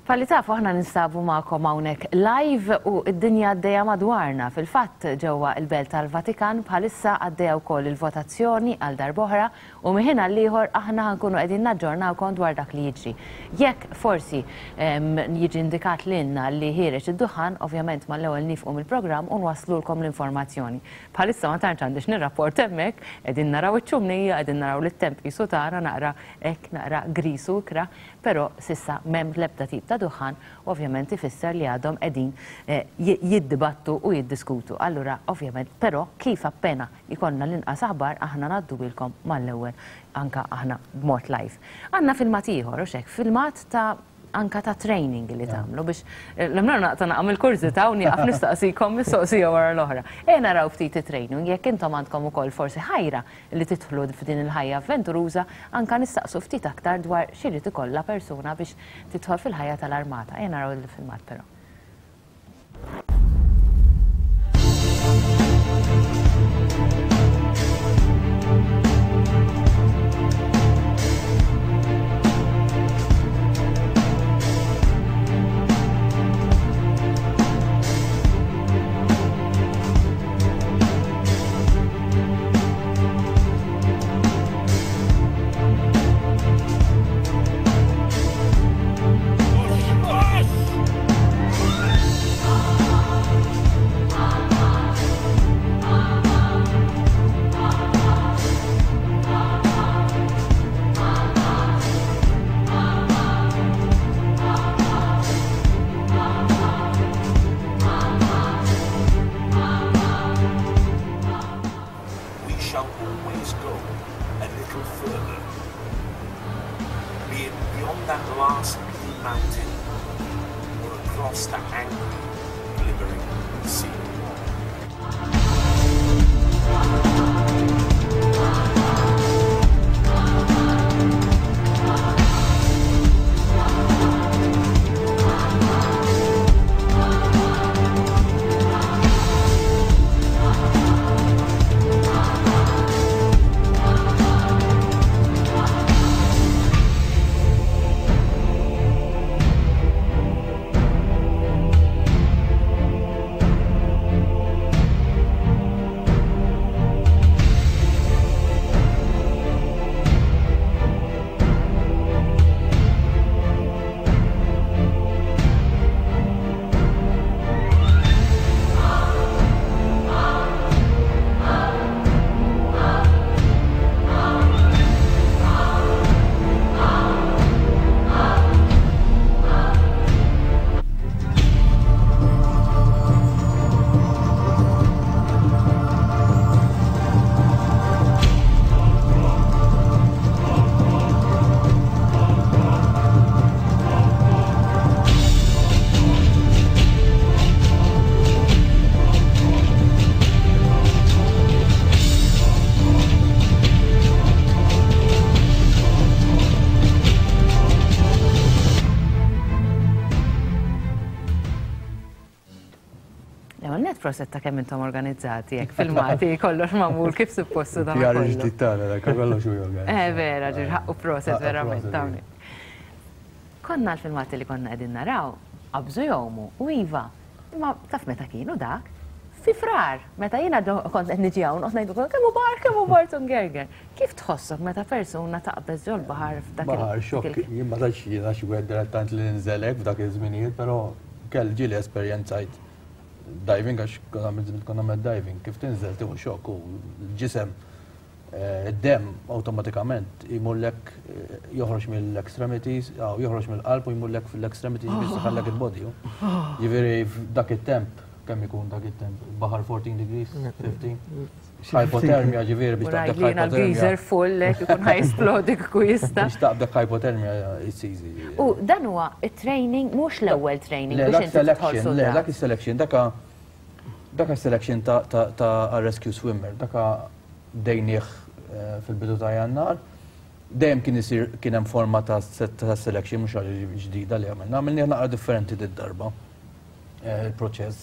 Bħalli tafu aħna ninsabu magħkom hawnhekk live u d-dinja għaddejja madwarna. Fil-fatt ġewwa l-Belt tal-Vatikan bħalissa għaddejja wkoll il-votazzjoni għal darb'oħra u minn ħin għall-ieħor aħna ħa nkunu qegħdin naġġornawkom dwar dak li jiġri. Jekk forsi jiġi indikat lilna li ħiereġ id-duħħan, ovvjament mal-ewwel niefqu mill-programm u nwasslulkom l-informazzjoni. Bħalissa ma tantx għandi x'nirrapport hemmhekk, qegħdin naraw iċ-ċumnija, qegħdin naraw li t-temp qisu tagħna naqra hekk naqra griż u ikrah, però s'issa m'hemm l-ebda tip ta' duħħan u ovvjament ifisser li għadhom qegħdin jiddibattu u jiddiskutu. Allura ovvjament però kif appena jkollna l-inqas aħbar aħna ngħadduhielkom mal-ewwel anke aħna b'mod live. Għandna filmat ieħor, hux hekk, filmat ta' anka ta' training li tagħmlu biex l-imrar naqta' naqam il-kurżità u nieqaf nistaqsikom mistoqsija wara l-oħra. Ejja naraw ftit it-training jekk intom għandkom ukoll forsi ħajra li tidħlu f'din il-ħajja avventuruża anka nistaqsu ftit aktar dwar x'irid ikollha persuna biex tidħol fil-ħajja tal-armata. Ejja naraw il-filmat però. We shall always go a little further, be it beyond that last blue mountain or across that angry, glimmering sea. L-ewwel nett proset ta' kemm intom organizzati hekk filmati kollox magħmul kif suppost u dan PR kollu. ġdid tagħna dak kollox hu jorganizza. Eh vera, ġir ħaqqu proset Ħaqqu verament proset, hawnhekk. Konna l-filmati li konna qegħdin naraw qabżu jgħumu u iva, imma taf meta kienu dak? Fi Frar, meta jiena kont qed niġi hawn noqgħod ngħidilkom kemm hu baħar, kemm hu baħar Tungerger. Kif tħossok meta persuna taqbeż ġol-baħar f'dak il- Baħar xokk, jien ma tantx jiena xi wieħed dilettant li ninżel hekk f'dak iż-żminijiet, però kell ġieli esperjenzajt diving għax konna għamilt konna għamilt diving, kif tinżel tieħu xokk u l-ġisem id-demm awtomatikament jmurlek joħroġ mill-extremities, joħroġ mill-qalb u jmurlek fil-extremities biex saħallek il-body. Ġifieri f'dak it-temp, kemm ikun dak it-temp? Baħar 14 degrees, 15? Hypothermia ġifieri biex taqbdek hypothermia. Geyser full, ikun ħa jisplodi kieku jista'. Biex taqbdek hypothermia, it's easy. U dan huwa it-training, mhux l-ewwel training biex inti tidħol Le, dak is-selection, daka daka selection ta' rescue swimmer, daka bdejnieh fil-bidu ta' Jannar. Dejjem kien isir kien hemm forma ta' selection mhux ħaġa ġdida li għamilna, għamilnieh naqra differenti did-darba il-proċess.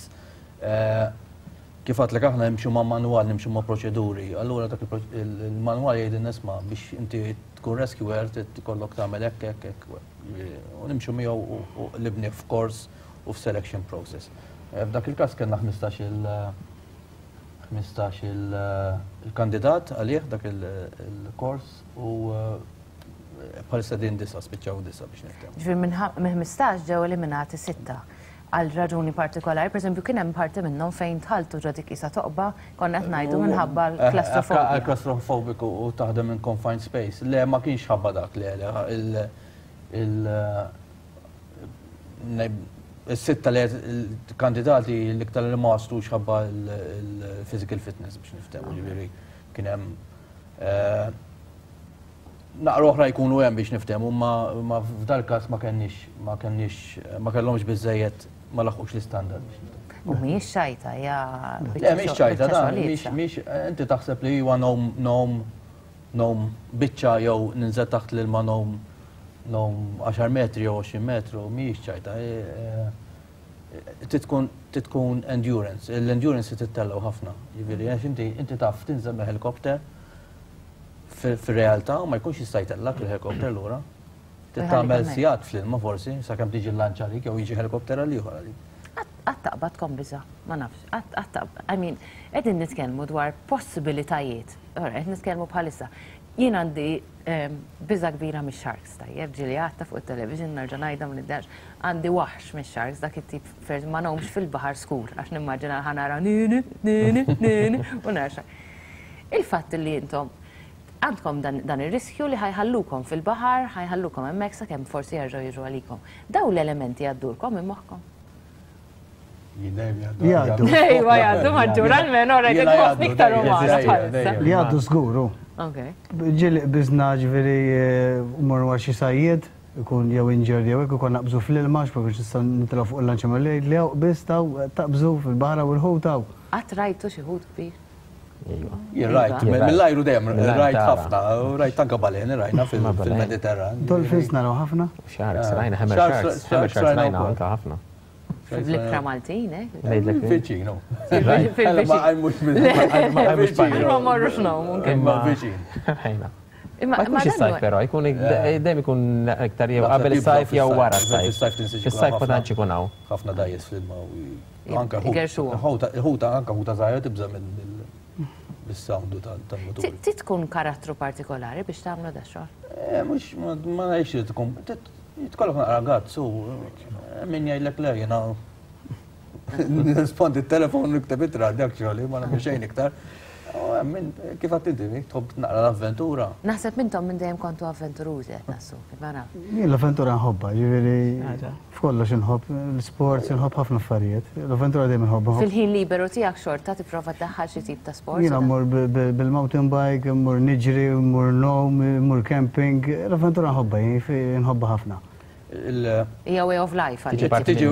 Kif għedtlek aħna nimxu ma' manwal, nimxu ma' proċeduri, allura dak il-manwal jgħidilna isma' biex inti tkun rescuer tikollok tagħmel hekk, hekk, hekk, u nimxu miegħu u qlibnieh f'kors u f'selection process. F'dak il-każ kellna 15 il 15 il-kandidat għalih dak il-kors u bħalissa din disa, spiċċaw disa biex niftehmu. Ġifieri minn 15 ġew eliminati sitta għal raġuni partikolari, per eżempju kien hemm parti minnhom fejn tħaltu ġo dik isa toqba, konna qed ngħidu minħabba l-klastrofobija. Għal klastrofobiku u taħdem in confined space. Le, ma kienx ħabba dak, le, le, il-sitta li kandidati l-iktar li ma waslux ħabba il-physical fitness biex niftehmu, ġifieri kien hemm naqra oħra jkunu hemm biex niftehmu, ma f'dal każ ma kenniex ma kenniex ma kellhomx biżejjed ma laħqux l-istandard biex niftehmu. U mhijiex xajta, hija Le, mhix ċajta, dan, mhix inti taħseb li huwa ngħum ngħum ngħum biċċa jew ninżel taħt l-ilma ngħum ngħum 10 metri jew 20 metru, mhijiex ċajta. Titkun endurance, l-endurance tittellgħu ħafna. Ġifieri, għax inti taf tinżel mill-helikopter fir-realtà u ma jkunx jista' jtellak il-helikopter lura. Tagħmel sigħat fl-ilma forsi, sakemm tiġi l-lanċa għalik jew jiġi helikopter għal ieħor għalik. Qatt taqbadkom biża', ma nafx, qatt I mean, qegħdin nitkellmu dwar possibilitajiet. Ora, qed nitkellmu bħalissa. Jien għandi biża' kbira mix-sharks, tajjeb, ġieli għadtha fuq it-television nerġa' ngħidha ma niddax. Għandi waħx mix-sharks, dak it-tip fer ma ngħumx fil-baħar skur għax nimmaġina ħa nara nini, nini, nini u nara shark. Il-fatt li intom għandkom dan ir-riskju li ħa jħallukom fil-baħar, ħa jħallukom hemmhekk sakemm forsi jerġgħu jiġu għalikom. Daw l-elementi jgħaddulkom minn moħħkom? Jgħaddu. Ejwa jgħaddu maġġur almenu ora jgħaddu ħafna iktar umana bħalissa. Li jgħaddu żgur. Ġieli qbiżna ġifieri mmorru għal xi sajjied, ikun jew injured jew hekk ikun naqbżu fl-ilma għax ma kienx nistgħu nitilgħu fuq il-lanċa mal li hawn qbiż taw taqbżu fil-baħar hawn il-ħut hawn. Qatt rajtu xi ħut kbir? Jien rajt, mill-ajru dejjem rajt ħafna, rajt anke baleni rajna fil-Mediterran. Dolphins naraw ħafna? Sharks, rajna hammer sharks, hammer sharks rajna anke ħafna. Fl-ibħra Maltin, eh? Viċin, no. Ma għajmux minn. Ma morrux ngħumu. Imma viċin. Rajna. Ma jkunx is-sajf però, jkun dejjem ikun iktar jew qabel is-sajf jew wara s-sajf. Fis-sajf ma tantx ikun hawn. Ħafna dgħajjes fl-ilma u anke ħuta anke ħuta żgħira tibża' mill-sound tal-mutur. Trid tkun karattru partikolari biex tagħmlu da xogħol? Mhux ma ngħidx li tkun jitkollok naqra guts u min jgħidlek le jiena nirrispondi t-telefon nikteb ittra dak xogħli ma nagħmel xejn iktar. Min kif għedt inti, tħobb naqra l-avventura. Naħseb intom minn dejjem kontu avventurużi qed nassumi, ma naf. Jien l-avventura nħobbha, ġifieri f'kollox inħobb, l-sports inħobb ħafna affarijiet. L-avventura dejjem inħobbha. Fil-ħin liberu tiegħek xorta tipprova ddaħħal xi tip ta' sport? Jiena mmur bil-mountain bike, mmur niġri, mmur ngħum, mmur camping, l-avventura nħobbha, jien nħobbha ħafna. Hija way of life għalik. Tiġi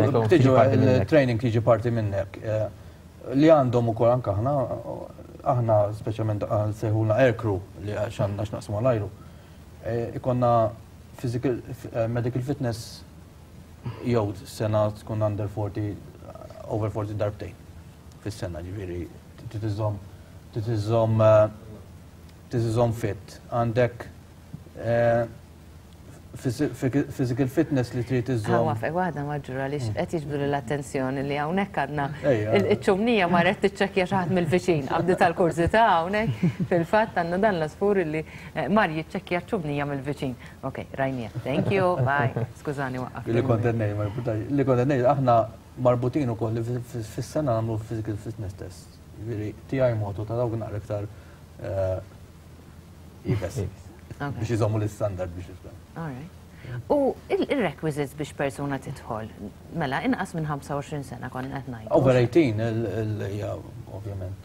il-training tiġi parti minnek. Li għandhom ukoll anke aħna, aħna speċjalment sejħulna air crew li għax għandna x'naqsmu l-ajru. Ikonna physical, medical fitness jew sena tkun under 40, over 40 darbtejn. fis-sena, ġifieri trid iżżomm trid iżżomm trid iżżomm fit. Għandek physical fitness li trid iżżomm. Wafek waħda maġġura li qed jiġbdu l-attenzjoni li hawnhekk għandna iċ-ċumnija marret tiċċekkja xi ħadd mill-viċin qabdi tal-kurżità hawnhekk fil-fatt għandna dan l-asfur li mar jiċċekkja ċ-ċumnija mill-viċin. Ok, rajnija. Thank you, bye. Skużani waqqaf. Li kont qed ngħid, ma jimpurtax. Li kont qed ngħid aħna marbutin ukoll li fis-sena nagħmlu physical fitness test. Jiġifieri tiegħi motu ta' dawk naqra iktar iebes. Biex iżommu l-istandard biex jifhem. All right. U il-requisites biex persuna tidħol, mela inqas minn 25 sena konna qed ngħidu. Over 18 hija ovvjament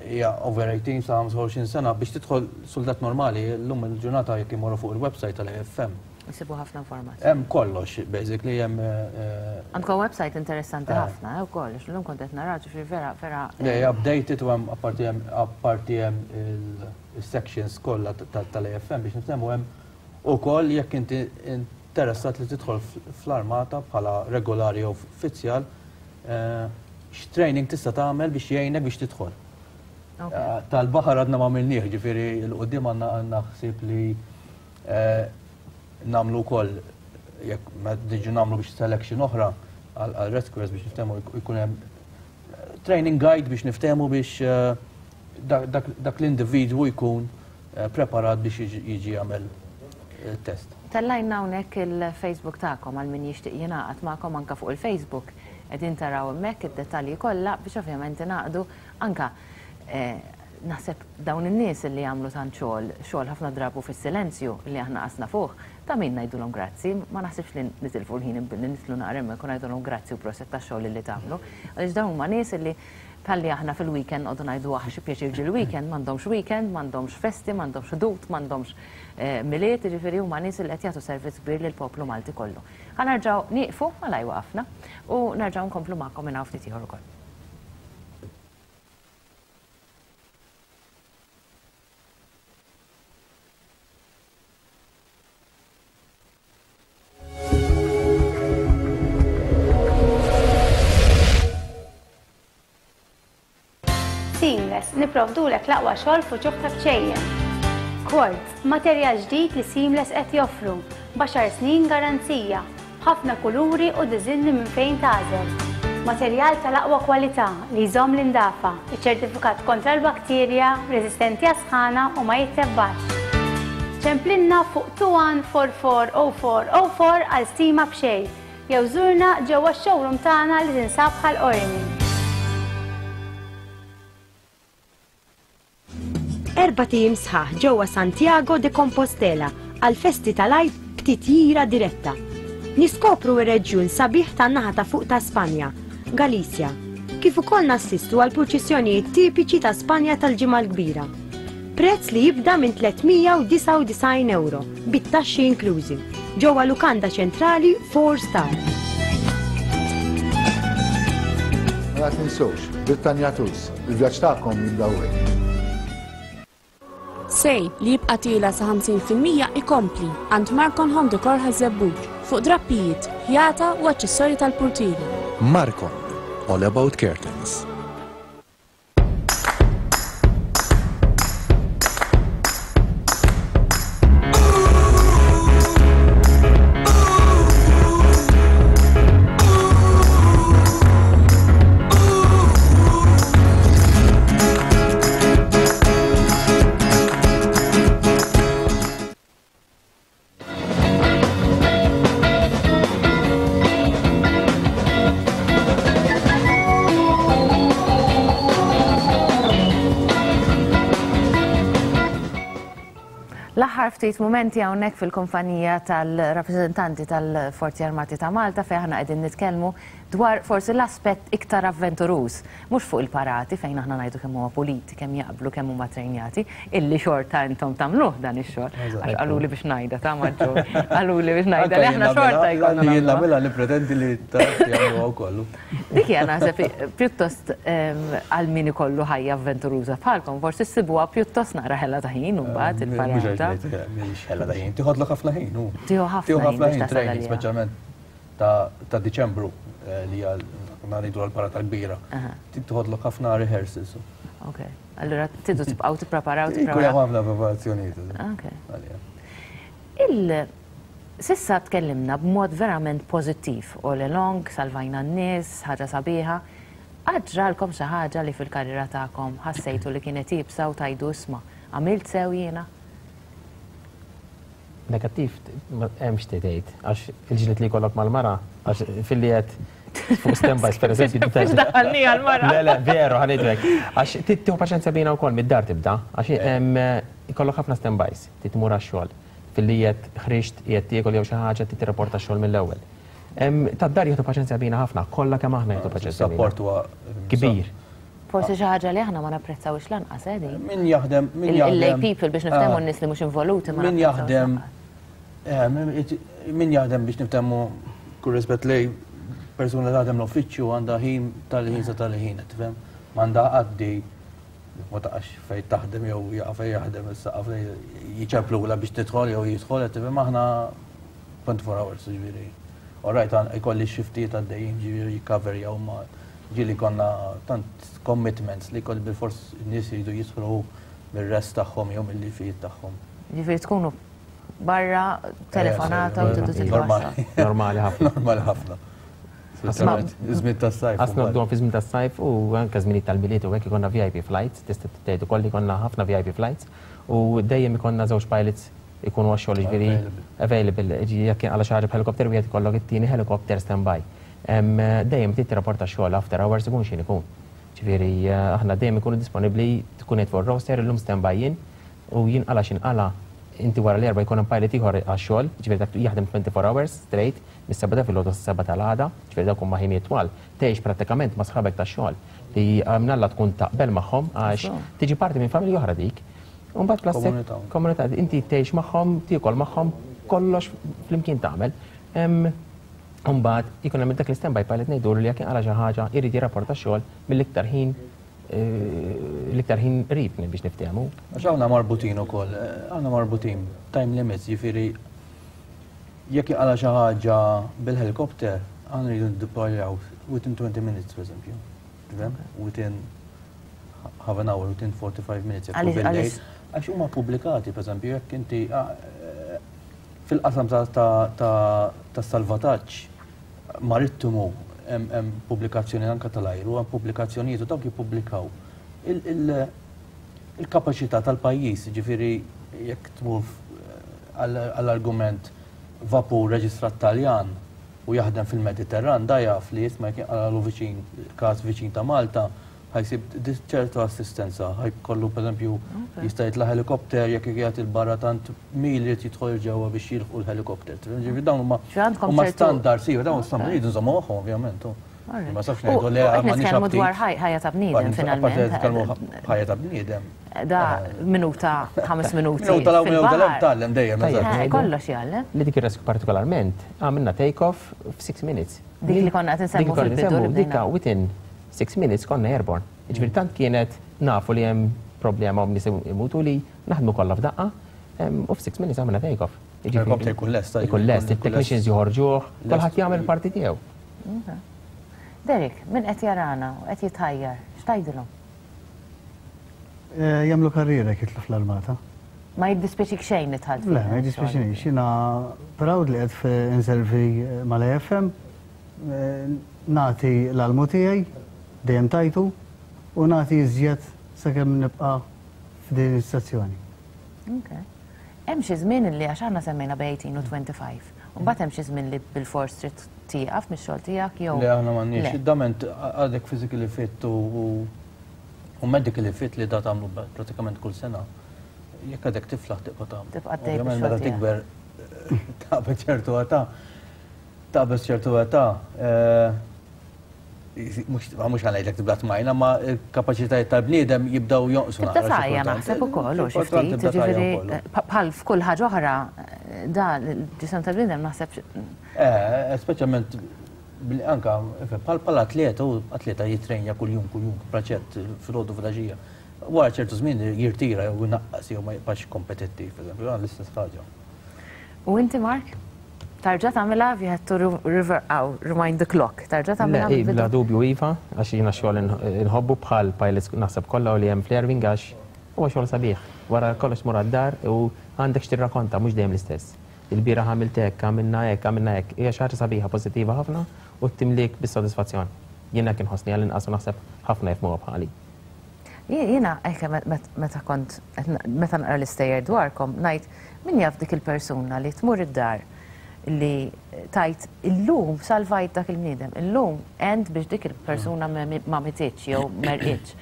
hija over 18 sa 25 sena biex tidħol suldat normali llum il-ġurnata jekk imorru fuq il-website tal-AFM. Isibu ħafna informazzjoni. Hemm kollox, basically hemm. Għandkom website interessanti ħafna wkoll, għax illum kont qed nara ġifieri vera vera. Le, updated u hemm apparti hemm apparti hemm il-sections kollha tal-AFM biex niftehmu hemm ukoll jekk inti interessat li tidħol fl-armata bħala regolari jew uffiċjal x'training tista' tagħmel biex jgħinek biex tidħol. Tal-baħar għadna ma għamilnieh, ġifieri 'l quddiem għandna għandna ħsieb li nagħmlu wkoll jekk ma niġu nagħmlu biex selection oħra għal rescuers biex niftehmu jkun hemm training guide biex niftehmu biex dak l-individwu jkun preparat biex jiġi jagħmel test. Tellajna hawnhekk il-Facebook tagħkom għal min jixtieq jingħaqad magħkom anke fuq il-Facebook. Qegħdin taraw hemmhekk id-dettalji kollha biex ovvjament ingħaqdu anke Naħseb dawn in-nies li jagħmlu tant xogħol, xogħol ħafna drabu fis-silenzju li aħna qas nafuh, ta' min ngħidulhom grazzi. Ma naħsibx li nitilfu l-ħin billi nidħlu naqra hemmhekk u ngħidulhom grazzi u proset tax-xogħol li tagħmlu. Għaliex dawn huma nies li bħalli aħna fil-weekend noqogħdu ngħidu aħ xi pjaċir ġie l-weekend, m'għandhomx weekend, m'għandhomx festi, m'għandhomx Ħdud, m'għandhomx Milied, jiġifieri huma nies li qed jagħtu servizz kbir lill-poplu Malti kollu. Ħa nerġgħu nieqfu, malajr waqafna, u nerġgħu nkomplu magħkom minn hawn ftit ieħor ukoll. Seamless, nipprovdulek l-aqwa xogħol f'uċuħ ta' bċejjen. Quartz, materjal ġdid li Seamless qed joffru, b'għaxar snin garanzija. B'ħafna kuluri u diżinni minn fejn tagħżel. Materjal tal-aqwa kwalità li jżomm l-indafa, iċċertifikat kontra l-bakterja, reżistenti għas-sħana u ma jittebbax. Ċemplilna fuq 21440404 għal stima b'xejn, jew żurna ġewwa x-showroom tagħna li tinsab Ħal Qormi. Erbat ijiem sħaħ ġewwa Santiago de Compostela għall-festi tal-Għid b'titjira diretta. Niskopru r-reġjun sabiħ tan-naħa ta' fuq ta' Spanja, Galizja, kif ukoll nassistu għall-purċissjonijiet tipiċi ta' Spanja tal-Ġimgħa l-Kbira. Prezz li jibda minn 399 ewro, bit-taxxi inklużi, ġewwa lukanda ċentrali 4 star. Mela tinsewx, Brittanja Tours. Il-vjaġġ tagħkom jibda hawnhekk. Sale li jibqa' tiela' sa 50% ikompli għand Marcon Home Decor Ħaż-Żebbuġ fuq drappijiet, ħjata u aċċessorji tal-purtieri. Marcon, all about curtains. L-aħħar ftit mumenti hawnhekk fil-kumpanija tal-rappreżentanti tal-Forzi Armati ta' Malta fejn aħna qegħdin nitkellmu dwar forsi l-aspett iktar avventuruż, mhux fuq il-parati fejn aħna ngħidu kemm huma puliti, kemm jaqblu, kemm huma trejnjati, illi xorta intom tagħmluh dan ix-xogħol. Għax qaluli biex ngħidha ta' Maġġur. Qaluli biex ngħidha li aħna xorta jkollna. Jien nagħmilha nippretendi li jagħmluha wkoll. Dik hija naħseb pjuttost għal min ikollu ħajja avventuruża bħalkom, forsi ssibuha pjuttost naqra ħela ta' ħin imbagħad il-parata. Mhix ħela ta' ħin, tieħodlok ħafna ħin. Tieħu ħafna ħin, speċjalment ta' Diċembru li hija ngħidu għall-parata kbira. Tieħodlok ħafna rehearsals. Ok. Allura tridu tibqgħu tippreparaw tippreparaw. Ikun ħafna preparazzjonijiet. Ok. Il Sissa tkellimna b'mod verament pożittiv, all along, salvajna n-nies, ħaġa sabiħa. Qatt ġralkom xi ħaġa li fil-karriera tagħkom ħassejtu li kienet iebsa u tgħidu isma' għamilt sew jiena? Negattiv m'hemmx tgħid, għax il-ġlied li jkollok mal-mara, għax filli qed fuq standbys per eżempju. Biex daħħalni għal-mara. Le, le, veru, ħanidrek. Għax tieħu paċenzja bina wkoll mid-dar tibda, għax ikollok ħafna standbys, titmur għax-xogħol. Filli qed ħriġt, qiegħed tiekol jew xi ħaġa trid tirrapporta x-xogħol mill-ewwel. Tad-dar jieħdu paċenzja bina ħafna, kollha kemm aħna jieħdu paċenzja bina. Support huwa kbir. Forsi xi ħaġa li aħna ma napprezzawhiex lanqas, eh, din. Min jaħdem, min jaħdem. Il-lay people biex niftehmu n-nies li mhux involuti ma Min jaħdem, min jaħdem biex niftehmu kull rispett lej persuna li taħdem l-uffiċċju għandha ħin tal-ħin sa tal-ħin, tifhem? M'għandha għaddi ma taqax fejn taħdem jew jaqa' fejn jaħdem is-saqaf jiċemplula biex tidħol jew jidħol, tifhem aħna 24 hours ġifieri. All right, ikolli xiftijiet għaddejjin ġifieri jikkaverjaw ma ġieli konna tant commitments li jkolli bilfors in-nies jridu jidħlu mir-rest tagħhom jew mill-lifijiet tagħhom. Ġifieri tkunu barra telefonata u tridu tidħlu. Normali ħafna. Normali ħafna. Żmien tas-sajf. Għax noqogħdu fi żmien tas-sajf u anke żminijiet tal-Milied u hekk ikollna VIP flights, tista' tgħid ukoll li jkollna ħafna VIP flights u dejjem ikollna żewġ pilots ikunu għax-xogħol jiġifieri available. Jekk jinqala' xi ħaġa b'helicopter wieħed ikollok it-tieni helicopter standby. Dejjem trid tirrapporta x-xogħol after hours ikun x'ħin ikun. Ġifieri aħna dejjem ikunu disponibbli tkun qed fuq ir-roster illum standby jien u jinqala' x'inqala' inti wara l-erbgħa jkun hemm pilot ieħor għax-xogħol, ġifieri dak jaħdem 24 hours straight mis-sebgħa ta' filgħodu sas-sebgħa tal-għada, ġifieri dawk huma ħinijiet twal. Tgħix prattikament ma' sħabek tax-xogħol li mnalla tkun taqbel magħhom għax tiġi parti minn familja oħra dik. U mbagħad plus Komunità. Komunità, inti tgħix magħhom, tiekol magħhom, kollox flimkien tagħmel. U mbagħad ikun hemm dak l-standby pilot ngħidulu li jekk inqala' xi ħaġa jrid jirrapporta x-xogħol mill-iktar ħin l-iktar ħin qrib biex niftehmu. Għax aħna marbutin ukoll, aħna marbutin time limits, jiġifieri jekk inqala' xi ħaġa bil-helikopter, aħna rridu niddeployaw within 20 minutes, per eżempju. Tifhem? Within half an hour, within 45 minutes. jekk hu Għaliex- bil-lejl. għaliex? Għax huma pubblikati, per eżempju, jekk inti fil-qasam ta' salvataġġ marittimu hemm pubblikazzjoni anke tal-ajru, hemm pubblikazzjonijiet u dawk jippubblikaw il-kapaċità tal-pajjiż, ġifieri jekk tmur għall-argument vapur reġistrat Taljan u jaħdem fil-Mediterran, da jaf li jisma' jekk jinqalalu viċin każ viċin ta' Malta, ħa jsib ċertu assistenza, ħa jkollu pereżempju jista' jitla' helikopter jekk qiegħed il-barra tant mil irid jidħol ġewwa biex jilħqu l-helikopter. Ġifieri dawn huma Ġifieri għandkom huma ċertu standards, iva, dawn standards jridu nżommu magħhom ovvjament. u Alright. Ma safx U ngħidu le qed m'għandniex nitkellmu aptit. dwar ħajja ta' bniedem Apparti finalment. nitkellmu ħajja ta' bniedem. Da minuta, 5 minuti. Minuta l-hawn, minuta l-hemm fil-baħar. tgħallem dejjem, Tajjeb, eżatt. ngħidu. Kollox jgħallem. Li dik ir-rescue partikolarment għamilna take off f'6 minutes. Dik li konna qed insemmu Dik li konna fil-bidu nsemmu, li bdejna. dikka within 6 minutes konna airborne. Ġifieri tant kienet nafu li hemm problema u nies imutu li naħdmu kollha f'daqqa u f'6 minutes għamilna take off. Ġifieri Helikopter ikun lest, Ikun lest, ikun lest. it-technicians joħorġuh, Lest. kulħadd jagħmel parti tiegħu. Ok. Derek, min qed jarana u qed jitħajjar, x'tgħidilhom? Jagħmlu karriera jekk jidħlu fl-armata. Ma jiddispjaċik xejn li dħalt Le, ma jiddispjaċinix. Jiena proud li qed inservi mal-AFM, nagħti l-almu tiegħi, dejjem tajtu, u nagħti iżjed sakemm nibqa' f'din is-sezzjoni. Ok. Hemm xi żmien li għax aħna semmejna bejn 18 u 25. U mbagħad hemm xi żmien li bilfors trid tieqaf mix-xogħol tiegħek jew Le, aħna m'għandniex. Le. Dament għadek physically fit u medically fit li da tagħmlu pratikament kull sena. Jekk għadek tiflaħ tibqa' tagħmlu. Tibqa' tgħid Ovvjament bix-xogħol meta tiegħek. tikber taqbeż ċertu età, taqbeż ċertu età, mhux ħa ngħidlek tibda tmajna, ma l-kapaċitajiet tal-bniedem jibdew jonqsu Tibda naqra xi tgħajja kultant. naħseb ukoll u xi Xi kultant ftit, tibda tgħajja ġifieri, wkoll. bħal f'kull ħaġa oħra, da l-ġisem tal-bniedem naħseb Speċjalment anka bħal bħal atleta, u atleta jitrenja kuljum, kuljum, praċett filgħodu filgħaxija. Wara ċertu żmien jirtira jew inaqqas jew ma jibqax kompetittiv, per eżempju, l-istess ħaġa. U inti, Mark? Tarġa' tagħmilha if you had to rewind the clock, tarġa' tagħmilha mill-bidu? Bla dubju iva, għax jiena x-xogħol inħobbu bħal pilots naħseb kollha u li hemm fl-Airwing għax huwa xogħol sabiħ. Wara kollox tmur għad-dar u għandek x'tirrakonta mhux dejjem l-istess. Ilbieraħ għamilt hekk, għamilna hekk, għamilna hekk. Hija xi ħaġa sabiħa, pożittiva ħafna u timliek bis-sodisfazzjon. Jien hekk inħossni għall-inqas u naħseb ħafna jifhmuha bħali. Jiena hekk meta kont meta naqra l-istejjer dwarkom ngħid min jaf dik il-persuna li tmur id-dar li tgħid illum salvajt dak il-bniedem, illum għent biex dik il-persuna ma mititx jew merqitx.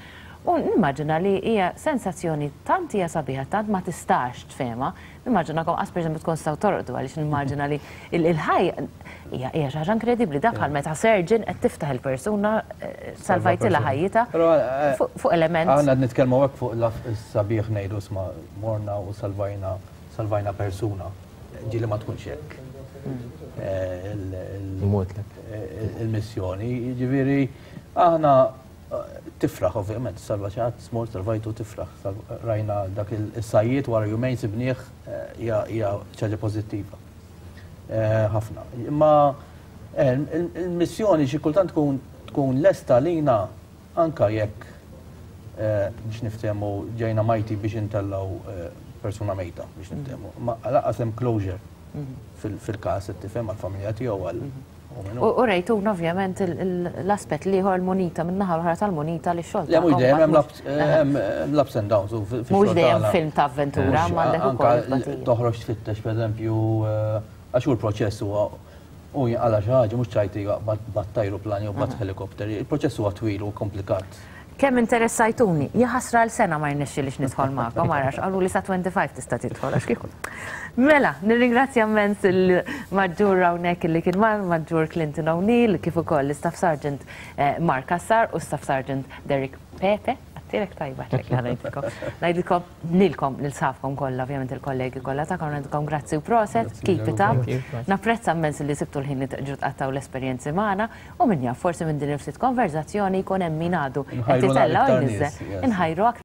U nimmaġina li hija sensazzjoni tant hija sabiħa, tant ma tistax tfehmha, Nimmaġinakom qas pereżempju tkun tistgħu torqdu għaliex nimmaġina li il-ħajja hija xi ħaġa inkredibbli dak bħal meta surgeon qed tiftaħ il-persuna eh, salvajtilha ħajjitha eh, fuq element. Aħna qed nitkellmu hekk fuq is-sabiħ ngħidu sma morna u salvajna salvajna persuna. Ġieli ma tkunx hekk. Hmm. Eh, il-missjoni, jiġifieri aħna Tifraħ ovvjament, salva xi ħadd, smort, salvajtu tifraħ. Rajna dak is-sajjied wara jumejn sibnieh hija xi ħaġa pożittiva. Ħafna. Imma il-missjoni xi kultant tkun tkun lesta lina anka jekk biex niftehmu ġejna majti biex intellgħu persuna mejta biex niftehmu. Ma lanqas hemm closure fil-każ qed tifhem għall-familja tiegħu għal U rejtuna ovvjament l-aspett l-ieħor l-munita min-naħa l-oħra tal-munita li x-xogħol. Le mhux dejjem hemm l-ups and downs. Mhux dejjem film ta' avventura, ma għandek ukoll. Toħroġ tfittex pereżempju għax hu l-proċess huwa u jinqala' xi ħaġa mhux ċajti bat ajruplan jew bat ħelikopter. Il-proċess huwa twil u komplikat. Kemm interessajtuni, jaħasra għal sena ma rnexxilix nidħol magħkom, ara x'qaluli sa 25 tista' tidħol għax kieku. Mela, nirringrazzja immens il-Maġġur hawnhekk li kien magħna, il-Maġġur Clinton O'Neill, kif ukoll l-Istaff Sergeant eh, Mark Cassar u Staff Sergeant Derek Pepe. Għattilek tajba ċek li ngħidilkom. Ngħidilkom lilkom lil sħabkom kollha, ovvjament il-kollegi kollha tagħkom ngħidilkom grazzi u proset, keep it up. Napprezza immens li sibtu l-ħin li tġu tqattgħu l-esperjenzi magħna. U min jaf, forsi minn din il-ftit konverżazzjoni jkun hemm min għadu qed itella' u jniżżel. Inħajru aktar.